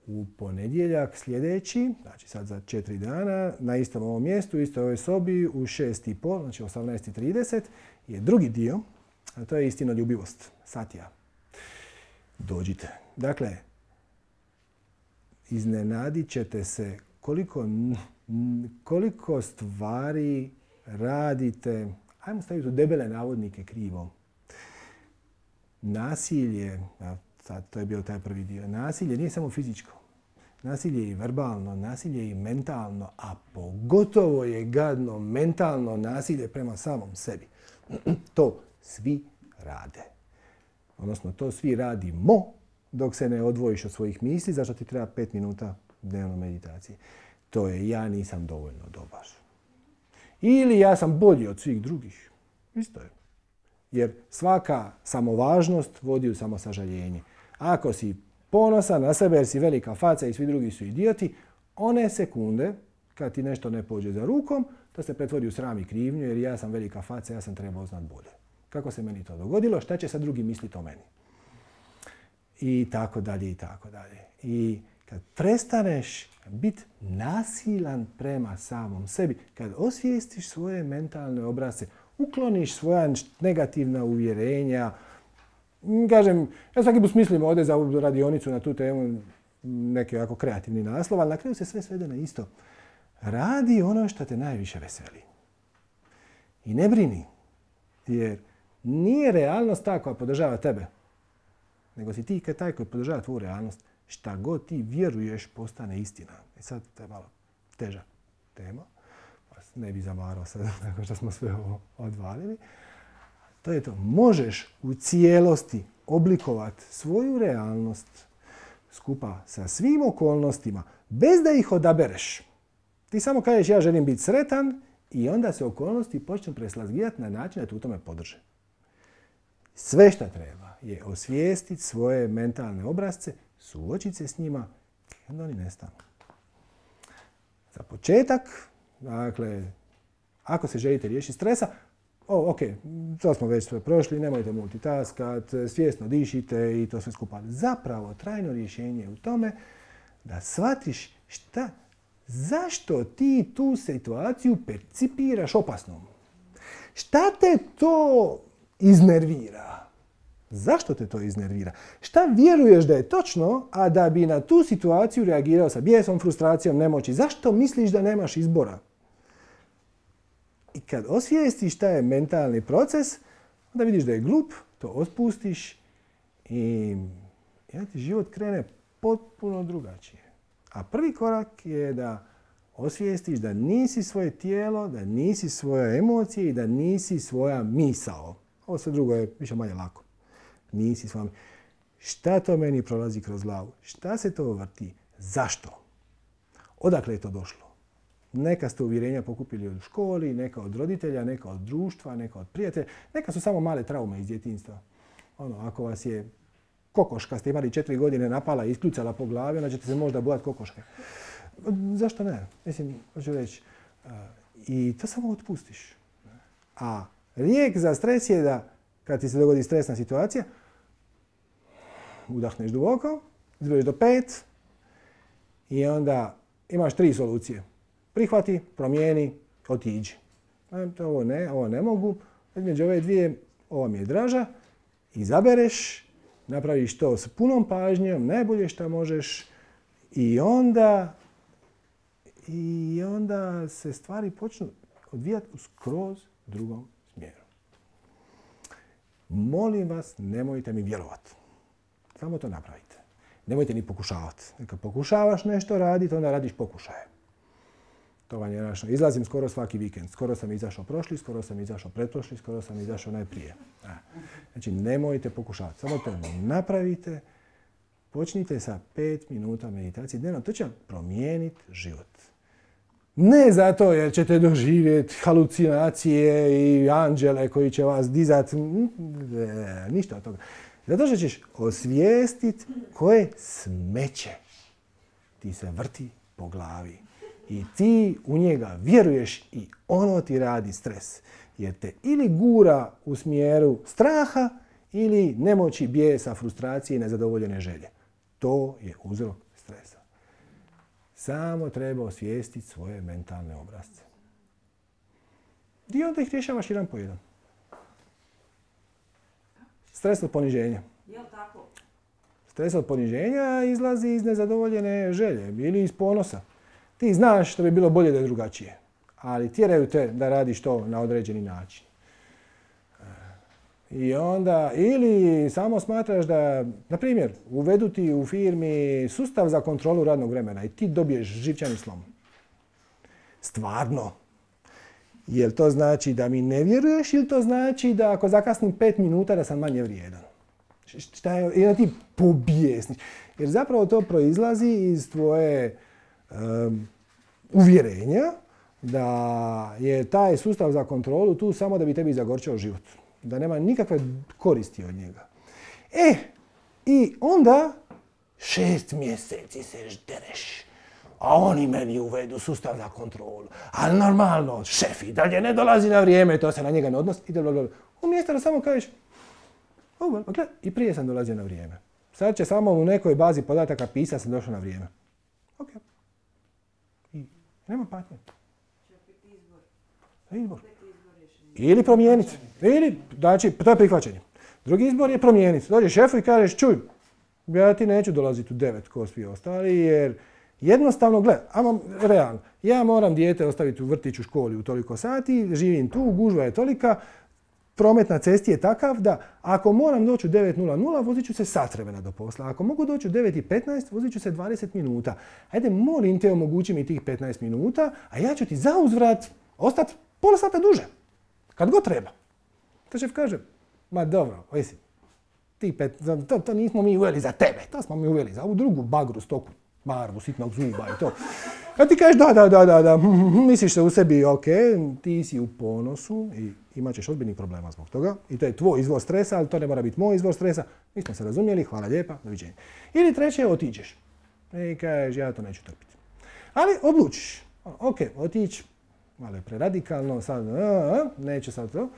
U ponedjeljak sljedeći, znači sad za 4 dana, na istom ovom mjestu, u istoj ovoj sobi, u 6:30, znači 18:30, je drugi dio, a to je istinoljubivost, satya. Dođite. Dakle, iznenadit ćete se koliko stvari radite, ajmo staviti u debele navodnike krivo. Nasilje, sad to je bio taj prvi dio, nasilje nije samo fizičko. Nasilje je i verbalno, nasilje je i mentalno, a pogotovo je gadno mentalno nasilje prema samom sebi. To svi rade. Odnosno, to svi radimo dok se ne odvojiš od svojih misli, zašto ti treba 5 minuta dnevno meditacije. To je ja nisam dovoljno dobar. Ili ja sam bolji od svih drugih. Isto je. Jer svaka samovažnost vodi u samosažaljenje. Ako si ponosan na sebe jer si velika faca i svi drugi su idioti, one sekunde kad ti nešto ne pođe za rukom, to se pretvori u sram i krivnju jer ja sam velika faca, ja sam trebao znat bolje. Kako se meni to dogodilo, šta će sad drugi misliti o meni? I tako dalje, i tako dalje. I kad prestaneš biti nasilan prema samom sebi, kad osvijestiš svoje mentalne obrasce, ukloniš svoja negativna uvjerenja, kažem, ja svaki put mislim ovdje za radionicu na tu temu neki ovako kreativni naslov, ali na kraju se sve svede na isto. Radi ono što te najviše veseli. I ne brini, jer nije realnost ta koja podržava tebe, nego si ti taj koji podržava tvoju realnost. Šta god ti vjeruješ postane istina. I sad to je malo teža tema. Ne bi zamarao sad nakon što smo sve ovo odvalili. To je to. Možeš u cijelosti oblikovati svoju realnost skupa sa svim okolnostima bez da ih odabereš. Ti samo kažeš ja želim biti sretan i onda se okolnosti počnu preslagivati na način da te u tome podrže. Sve što treba je osvijestiti svoje mentalne obrazce, suočiti se s njima i onda oni nestanu. Za početak, dakle, ako se želite riješiti stresa, to smo već sve prošli, nemojte multitaskat, svjesno dišite i to sve skupa. Zapravo, trajno rješenje je u tome da shvatiš zašto ti tu situaciju percipiraš opasnom. Šta te to iznervira? Zašto te to iznervira? Šta vjeruješ da je točno, a da bi na tu situaciju reagirao sa bijesom, frustracijom, nemoći? Zašto misliš da nemaš izbora? I kad osvijestiš šta je mentalni proces, onda vidiš da je glup, to otpustiš i ti život krene potpuno drugačije. A prvi korak je da osvijestiš da nisi svoje tijelo, da nisi svoje emocije i da nisi svoja misao. Ovo sve drugo je više manje lako. Nisi s vama. Šta to meni prolazi kroz glavu? Šta se to vrti? Zašto? Odakle je to došlo? Neka ste uvjerenja pokupili od školi, neka od roditelja, neka od društva, neka od prijatelja. Neka su samo male traume iz djetinjstva. Ako vas je kokoška, ste imali 4 godine, napala i iskljucala po glavi, onda ćete se možda bojati kokoške. Zašto ne? Mislim, hoću reći. I to samo otpustiš. A lijek za stres je da kad ti se dogodi stresna situacija, udahneš duboko, izbroješ do 5 i onda imaš 3 solucije. Prihvati, promijeni, otiđi. Ovo ne mogu. Između ove dvije, ova mi je draža. Izabereš, napraviš to s punom pažnjom, najbolje što možeš i onda se stvari počnu odvijati u skroz drugom smjeru. Molim vas, nemojte mi vjerovati. Samo to napravite. Nemojte ni pokušavati. Kad pokušavaš nešto raditi, onda radiš pokušaje. To vam je našo. Izlazim skoro svaki vikend. Skoro sam izašao prošli, skoro sam izašao pretprošli, skoro sam izašao najprije. Znači, nemojte pokušavati. Samo to napravite. Počnite sa 5 minuta meditacije dnevno. To će vam promijeniti život. Ne zato jer ćete doživjeti halucinacije i anđele koji će vas dizati. Ništa od toga. Zato što ćeš osvijestiti koje smeće ti se vrti po glavi. I ti u njega vjeruješ i ono ti radi stres. Jer te ili gura u smjeru straha ili nemoći, bijesa, frustracije i nezadovoljene želje. To je uzrok stresa. Samo treba osvijestiti svoje mentalne obrazce. I onda ih rješavaš jedan po jedan. Stres od poniženja. Jel tako? Stres od poniženja izlazi iz nezadovoljene želje ili iz ponosa. Ti znaš da bi bilo bolje da je drugačije, ali tjeraju te da radiš to na određeni način. I onda, ili samo smatraš da, na primjer, uvedu ti u firmi sustav za kontrolu radnog vremena i ti dobiješ živčani slom. Stvarno. Jel to znači da mi ne vjeruješ ili to znači da ako zakasnim 5 minuta da sam manje vrijedan? Šta je, i da ti pobijesniš. Jer zapravo to proizlazi iz tvoje uvjerenja da je taj sustav za kontrolu tu samo da bi tebi zagorčao život. Da nema nikakve koristi od njega. I onda 6 mjeseci se ždereš. A oni meni uvedu sustav za kontrolu. Ali normalno, šef i dalje ne dolazi na vrijeme, to se na njega ne odnosi. Umjesto da samo kažeš, i prije sam dolazio na vrijeme. Sad će samo u nekoj bazi podataka pisati da sam došao na vrijeme. Ok. I nema patnje. Izbor. Ili promijeniti. Znači, to je prihvaćanje. Drugi izbor je promijeniti. Dođeš šefu i kažeš, čuj, ja ti neću dolaziti u 9 ko svi ostali, jer jednostavno, realno, ja moram dijete ostaviti u vrtiću, školi u toliko sati, živim tu, gužva je tolika, promet na cesti je takav da ako moram doći u 9:00, vozit ću se sat vremena do posla. Ako mogu doći u 9:15, vozit ću se 20 minuta. Ajde, molim te, omogući mi tih 15 minuta, a ja ću ti za uzvrat ostati pola sata duže. Kad god treba. To šef kaže, ma dobro, to nismo mi uveli za tebe, to smo mi uveli za ovu drugu bagru, stoku, barbu, sitnog zuba i to. A ti kažeš da, misliš se u sebi, ok, ti si u ponosu i imat ćeš ozbiljnih problema zbog toga. I to je tvoj izvor stresa, ali to ne mora biti moj izvor stresa. Mi smo se razumjeli, hvala lijepa, doviđenja. Ili treće, otiđeš. I kažeš, ja to neću trpiti. Ali odlučiš, ok, otići, malo je preradikalno, sad, neću sad to.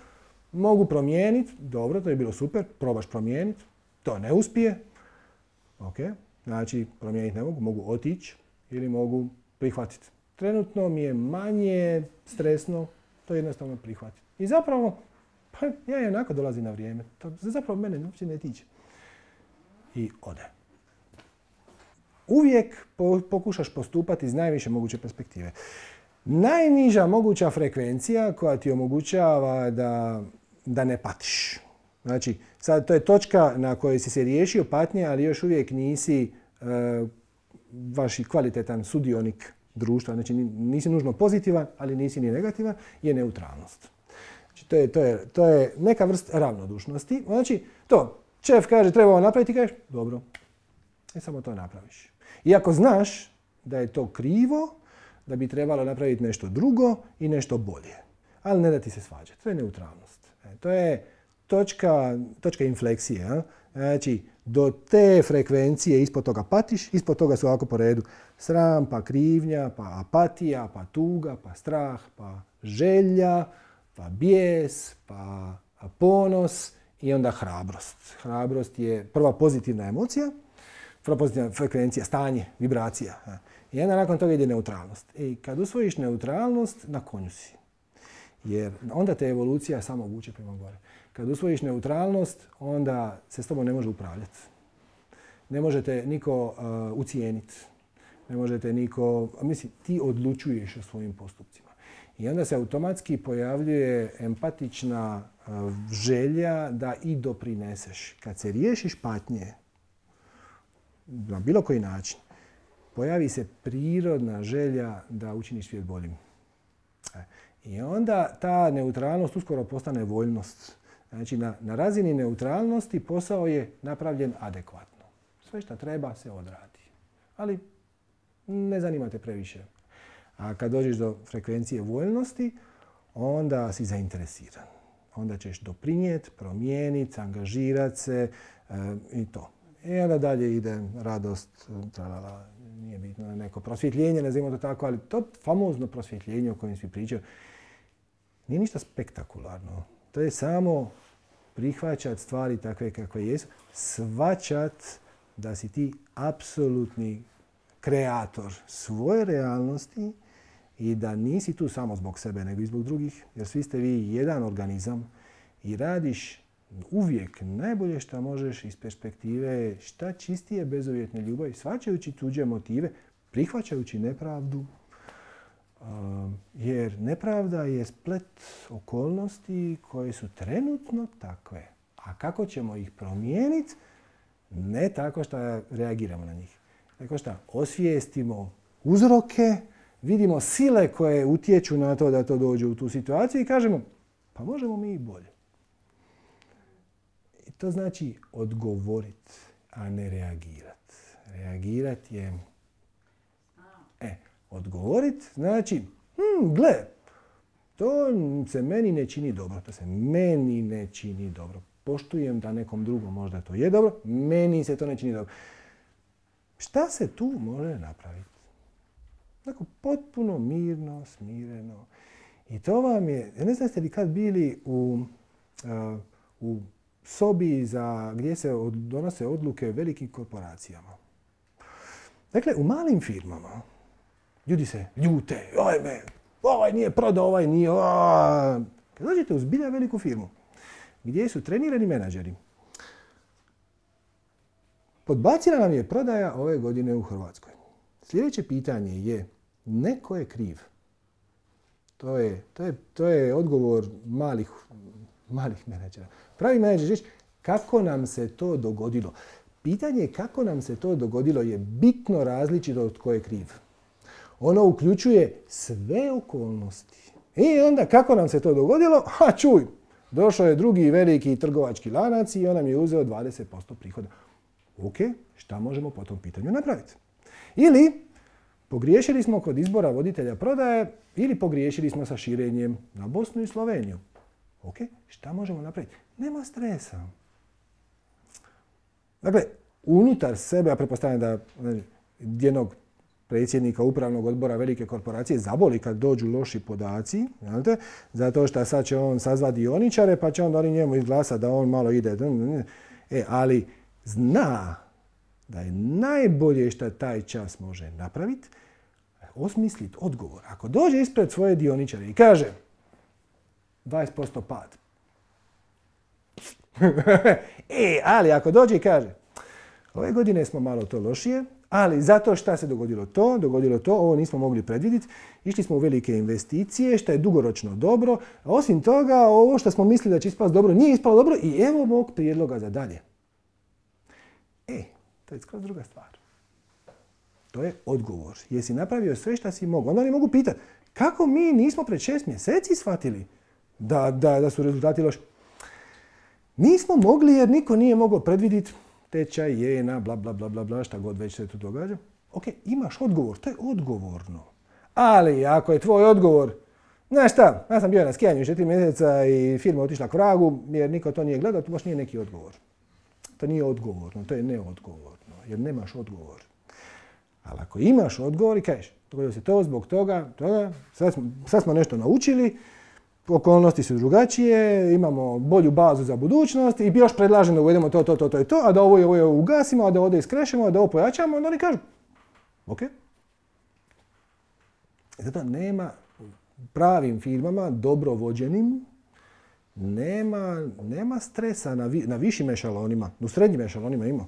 Mogu promijeniti, dobro, to je bilo super, probaš promijeniti, to ne uspije. Ok, znači promijeniti ne mogu otići ili mogu prihvatiti. Trenutno mi je manje stresno, to jednostavno prihvatiti. I zapravo, ja i onako dolazim na vrijeme, to zapravo mene uopće ne tiče. I ode. Uvijek pokušaš postupati iz najviše moguće perspektive. Najniža moguća frekvencija koja ti omogućava da ne patiš. Znači, sad to je točka na kojoj si se riješio patnje, ali još uvijek nisi vaš kvalitetan sudionik društva. Znači, nisi nužno pozitivan, ali nisi ni negativan, je neutralnost. Znači, to je neka vrsta ravnodušnosti. Znači, to, šef kaže treba ovo napraviti, kažeš, dobro, samo to napraviš. Iako znaš da je to krivo, da bi trebalo napraviti nešto drugo i nešto bolje. Ali ne da ti se svađa. To je neutralnost. To je točka infleksije. A? Znači, do te frekvencije ispod toga patiš, ispod toga su ovako po redu sram, pa krivnja, pa apatija, pa tuga, pa strah, pa želja, pa bijes, pa ponos i onda hrabrost. Hrabrost je prva pozitivna emocija, prva pozitivna frekvencija, stanje, vibracija. I onda nakon toga ide neutralnost. I kad usvojiš neutralnost, na konju si. Jer onda te evolucija samo vuče prema gore. Kad usvojiš neutralnost, onda se s tobom ne može upravljati. Ne možete niko ucijeniti. Ne možete niko... Mislim, ti odlučuješ o svojim postupcima. I onda se automatski pojavljuje empatična želja da i doprineseš. Kad se riješiš patnje, na bilo koji način, pojavi se prirodna želja da učiniš svijet boljim. I onda ta neutralnost uskoro postane voljnost. Znači, na razini neutralnosti posao je napravljen adekvatno. Sve što treba se odradi. Ali ne zanima te previše. A kad dođeš do frekvencije voljnosti, onda si zainteresiran. Onda ćeš doprinijeti, promijeniti, angažirati se i to. I onda dalje ide radost, tralala, nije bitno, neko prosvjetljenje, nazivamo to tako, ali to famozno prosvjetljenje o kojem svi pričaju, nije ništa spektakularno. To je samo prihvaćati stvari takve kakve jesu, shvaćat da si ti apsolutni kreator svoje realnosti i da nisi tu samo zbog sebe, nego i zbog drugih, jer svi ste vi jedan organizam i radiš uvijek najbolje što možeš iz perspektive šta čistije bezuvjetne ljubavi, shvaćajući tuđe motive, prihvaćajući nepravdu, jer nepravda je splet okolnosti koje su trenutno takve. A kako ćemo ih promijeniti? Ne tako što reagiramo na njih. Tako što osvijestimo uzroke, vidimo sile koje utječu na to da to dođe u tu situaciju i kažemo pa možemo mi i bolje. I to znači odgovoriti, a ne reagirati. Reagirati je... Odgovoriti znači, gle, to se meni ne čini dobro. To se meni ne čini dobro. Poštujem da nekom drugom možda to je dobro, meni se to ne čini dobro. Šta se tu može napraviti? Tako potpuno mirno, smireno. I to vam je, ne znam ste li kad bili u sobi gdje se donose odluke velikim korporacijama. Dakle, u malim firmama ljudi se ljute, ovaj nije prodao, ovaj nije... Kad dođete u zbilja veliku firmu, gdje su trenirani menadžeri, podbacila nam je prodaja ove godine u Hrvatskoj. Sljedeće pitanje je, neko je kriv. To je odgovor malih menadžera. Pravi menadžer reći, kako nam se to dogodilo. Pitanje kako nam se to dogodilo je bitno različito od tko je kriv. Ono uključuje sve okolnosti. I onda kako nam se to dogodilo? Čuj, došao je drugi veliki trgovački lanac i on nam je uzeo 20% prihoda. Ok, šta možemo po tom pitanju napraviti? Ili pogriješili smo kod izbora voditelja prodaje ili pogriješili smo sa širenjem na Bosnu i Sloveniju. Ok, šta možemo napraviti? Nema stresa. Dakle, unutar sebe, ja pretpostavljam da jednog predsjednika upravnog odbora velike korporacije zaboli kad dođu loši podaci, zato što sad će on sazvati dioničare pa će onda oni njemu izglasati da on malo ide. Ali zna da je najbolje što taj čas može napraviti, osmisliti odgovor. Ako dođe ispred svoje dioničare i kaže 20% pad. Ali ako dođe i kaže ove godine smo malo to lošije, ali zato šta se dogodilo to, ovo nismo mogli predvidjeti, išli smo u velike investicije, što je dugoročno dobro, a osim toga, ovo što smo mislili da će ispasti dobro, nije ispalo dobro i evo mog prijedloga za dalje. To je skroz druga stvar. To je odgovor. Jesi napravio sve što si mogao? Onda oni mogu pitati, kako mi nismo pred 6 mjeseci shvatili da su rezultati loši? Nismo mogli jer niko nije mogao predvidjeti tečaj jena, bla, bla, bla, bla, bla, šta god već se tu događa. Ok, imaš odgovor, to je odgovorno. Ali ako je tvoj odgovor, znaš šta, ja sam bio na skijanju 4 mjeseca i firma otišla k vragu jer niko to nije gledao, to baš nije neki odgovor. To nije odgovorno, to je neodgovorno, jer nemaš odgovor. Ali ako imaš odgovor i kažeš, dogodilo se to zbog toga, sad smo nešto naučili, okolnosti su drugačije, imamo bolju bazu za budućnost i još predlažem da uvedemo to i to, a da ovo ugasimo, a da ovdje iskrešemo, a da ovo pojačamo, onda oni kažu, ok. Zato nema pravim firmama, dobro vođenim, nema stresa na višim ešalonima, u srednjim ešalonima ima.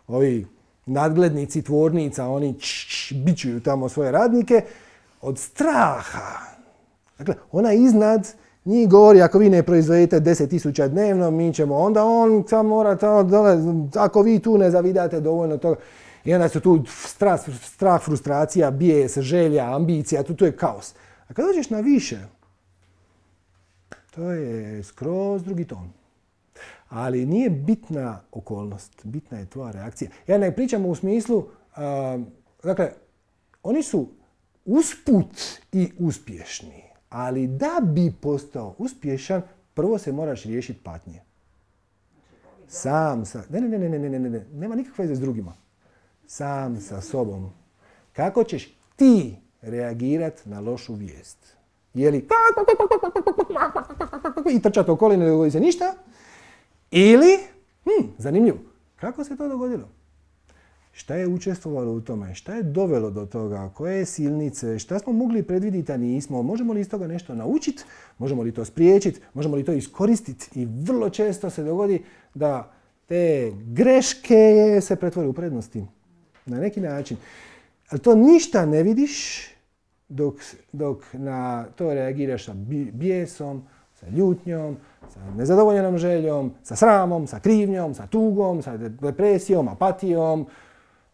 Ovi nadglednici tvornica, oni bičuju tamo svoje radnike od straha. Dakle, ona iznad njih govori, ako vi ne proizvedete 10.000 dnevno, mi ćemo, onda on samo mora tamo dole, ako vi tu ne zavidate dovoljno toga. I onda su tu strah, frustracija, bijes, želja, ambicija, tu je kaos. A kad dođeš na više, to je skroz drugi ton. Ali nije bitna okolnost, bitna je tvoja reakcija. Ja ne pričam u smislu, dakle, oni su usput i uspješni, ali da bi postao uspješan, prvo se moraš riješiti patnje. Sam sa... Ne, nema nikakve veze s drugima. Sam sa sobom. Kako ćeš ti reagirati na lošu vijest? Je li i trčati okolo i ne dogodi se ništa? Ili, zanimljivo, kako se to dogodilo? Šta je učestvovalo u tome? Šta je dovelo do toga? Koje silnice? Šta smo mogli predvidjeti, a nismo? Možemo li iz toga nešto naučiti? Možemo li to spriječiti? Možemo li to iskoristiti? I vrlo često se dogodi da te greške se pretvore u prednosti. Na neki način. Ali to ništa ne vidiš dok na to reagiraš sa bijesom, sa ljutnjom, sa nezadovoljenom željom, sa sramom, sa krivnjom, sa tugom, sa depresijom, apatijom.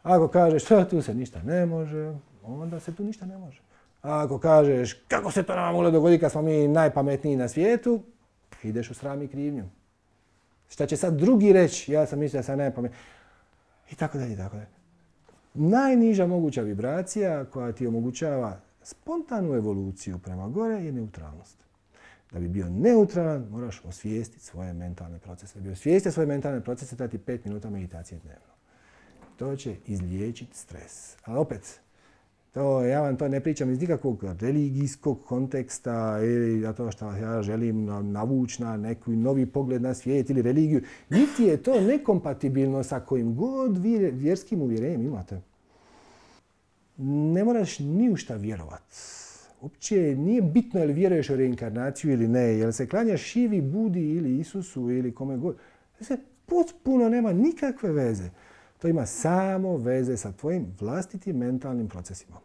Ako kažeš tu se ništa ne može, onda se tu ništa ne može. A ako kažeš kako se to nama moglo dogoditi kad smo mi najpametniji na svijetu, ideš u sram i krivnju. Šta će sad drugi reći? Ja sam mislio da sam najpametniji. I tako dalje, tako dalje. Najniža moguća vibracija koja ti omogućava spontanu evoluciju prema gore je neutralnost. Da bi bio neutralan, moraš osvijestiti svoje mentalne procese. Da bi osvijestio svoje mentalne procese, dati 5 minuta meditacije dnevno. To će izliječiti stres. Ali opet, ja vam to ne pričam iz nikakvog religijskog konteksta ili zato što ja želim navući na neki novi pogled na svijet ili religiju. Niti je to nekompatibilno sa kojim god vjerskim uvjerenjem imate. Ne moraš ni u šta vjerovati. Uopće nije bitno je li vjeruješ u reinkarnaciju ili ne, jel se klanjaš Šivi, Budi ili Isusu ili kome god. To se potpuno nema nikakve veze. To ima samo veze sa tvojim vlastitim mentalnim procesima.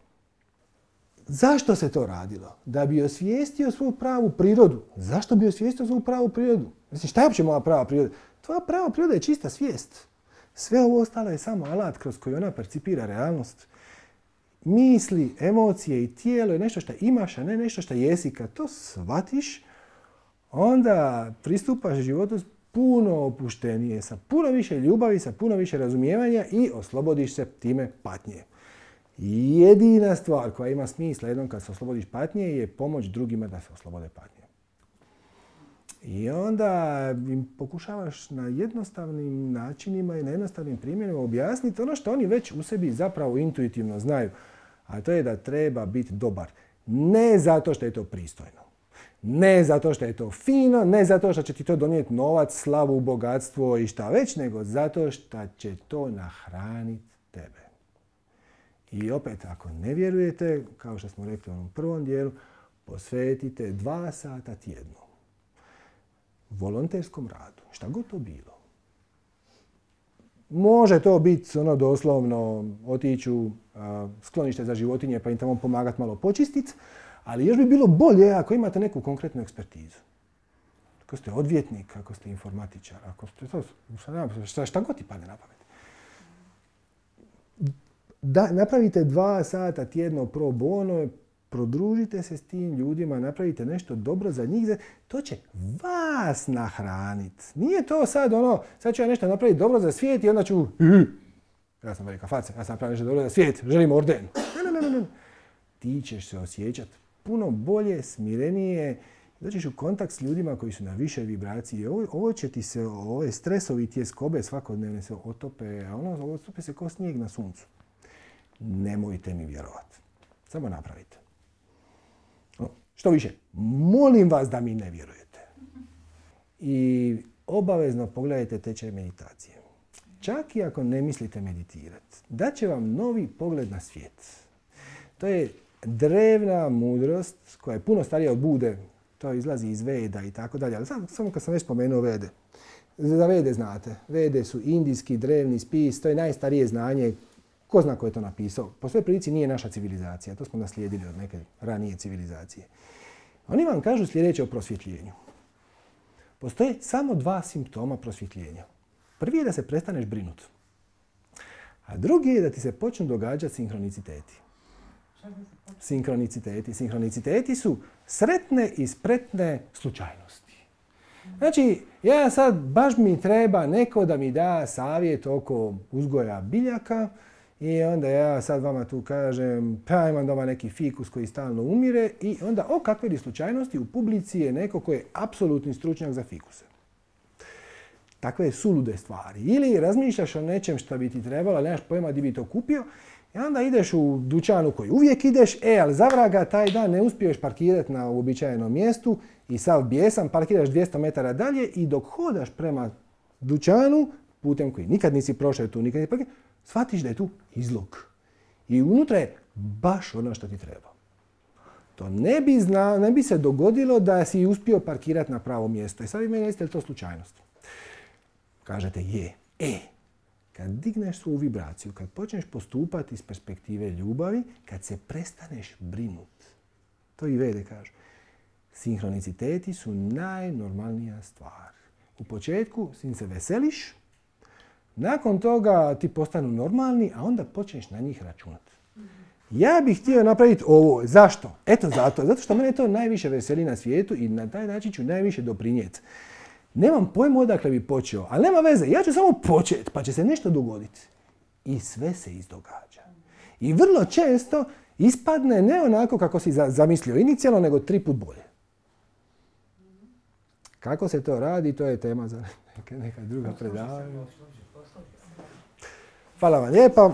Zašto se to radilo? Da bi osvijestio svoju pravu prirodu. Zašto bi osvijestio svoju pravu prirodu? Mislim, šta je uopće moja prava priroda? Tvoja prava priroda je čista svijest. Sve ovo ostalo je samo alat kroz koji ona percipira realnost. Misli, emocije i tijelo je nešto što imaš, a ne nešto što jesi. Kad to shvatiš, onda pristupaš životu puno opuštenije, sa puno više ljubavi, sa puno više razumijevanja i oslobodiš se time patnje. Jedina stvar koja ima smisla jednom kad se oslobodiš patnje je pomoć drugima da se oslobode patnje. I onda im pokušavaš na jednostavnim načinima i na jednostavnim primjerima objasniti ono što oni već u sebi zapravo intuitivno znaju. A to je da treba biti dobar. Ne zato što je to pristojno. Ne zato što je to fino, ne zato što će ti to donijeti novac, slavu, bogatstvo i šta već, nego zato što će to nahraniti tebe. I opet, ako ne vjerujete, kao što smo rekli u onom prvom dijelu, posvetite 2 sata tjedno volonterskom radu, šta god to bilo. Može to biti doslovno otići u sklonište za životinje pa im tamo pomagati malo počistiti, ali još bi bilo bolje ako imate neku konkretnu ekspertizu. Ako ste odvjetnik, ako ste informatičar, ako ste šta god ti padne na pamet. Napravite 2 sata tjedno pro bono, prodružite se s tim ljudima, napravite nešto dobro za njih, to će vas nahraniti. Nije to sad ću ja nešto napraviti dobro za svijet i onda ću, ja sam velika faca, ja sam napravio nešto dobro za svijet, želim orden. Ne. Ti ćeš se osjećati puno bolje, smirenije, doćeš u kontakt s ljudima koji su na višoj vibraciji. Ovo će ti se, ove stresovi, tjeskobe svakodnevne se otope, a otope se ko snijeg na suncu. Nemojte mi vjerovati. Samo napravite. Što više, molim vas da mi ne vjerujete. I obavezno pogledajte tečaj meditacije. Čak i ako ne mislite meditirati, daće vam novi pogled na svijet. To je drevna mudrost koja je puno starija od Bude. To izlazi iz Veda i tako dalje. Ali samo kad sam već spomenuo Vede. Za Vede znate. Vede su indijski drevni spis. To je najstarije znanje. Ko zna ko je to napisao? Po svoj prilici nije naša civilizacija. To smo naslijedili od neke ranije civilizacije. Oni vam kažu sljedeće o prosvjetljenju. Postoje samo 2 simptoma prosvjetljenja. Prvi je da se prestaneš brinuti. A drugi je da ti se počnu događati sinhroniciteti. Sinhroniciteti su sretne i spretne slučajnosti. Znači, ja sad baš mi treba neko da mi da savjet oko uzgoja biljaka i onda ja sad vama tu kažem, pa imam doma neki fikus koji stalno umire i onda, kakve li slučajnosti, u publici je neko koji je apsolutni stručnjak za fikuse. Takve sulude stvari. Ili razmišljaš o nečem što bi ti trebalo, ali nemaš pojma di bi to kupio, i onda ideš u dućanu koji uvijek ideš, ali za vraga taj dan ne uspiješ parkirati na uobičajenom mjestu i sav bijesan, parkiraš 200 metara dalje i dok hodaš prema dućanu, putem koji nikad nisi prošao tu, nikad nisi parkirao, shvatiš da je tu izlog. I unutra je baš ono što ti treba. To ne bi se dogodilo da si uspio parkirati na pravo mjesto. I sad vi meni recite, je li to slučajnost? Kažete je. Kad digneš svoju vibraciju, kad počneš postupati iz perspektive ljubavi, kad se prestaneš brinuti, to i Vede kažu, sinhroniciteti su najnormalnija stvar. U početku se veseliš, nakon toga ti postanu normalni, a onda počneš na njih računati. Ja bih htio napraviti ovo. Zašto? Eto zato što mene to najviše veseli na svijetu i na taj način ću najviše doprinijeti. Nemam pojma odakle bi počeo, ali nema veze, ja ću samo početi, pa će se nešto dogoditi. I sve se izdogađa. I vrlo često ispadne ne onako kako si zamislio inicijalno, nego 3 put bolje. Kako se to radi, to je tema za neka druga predavanja. Hvala vam lijepa.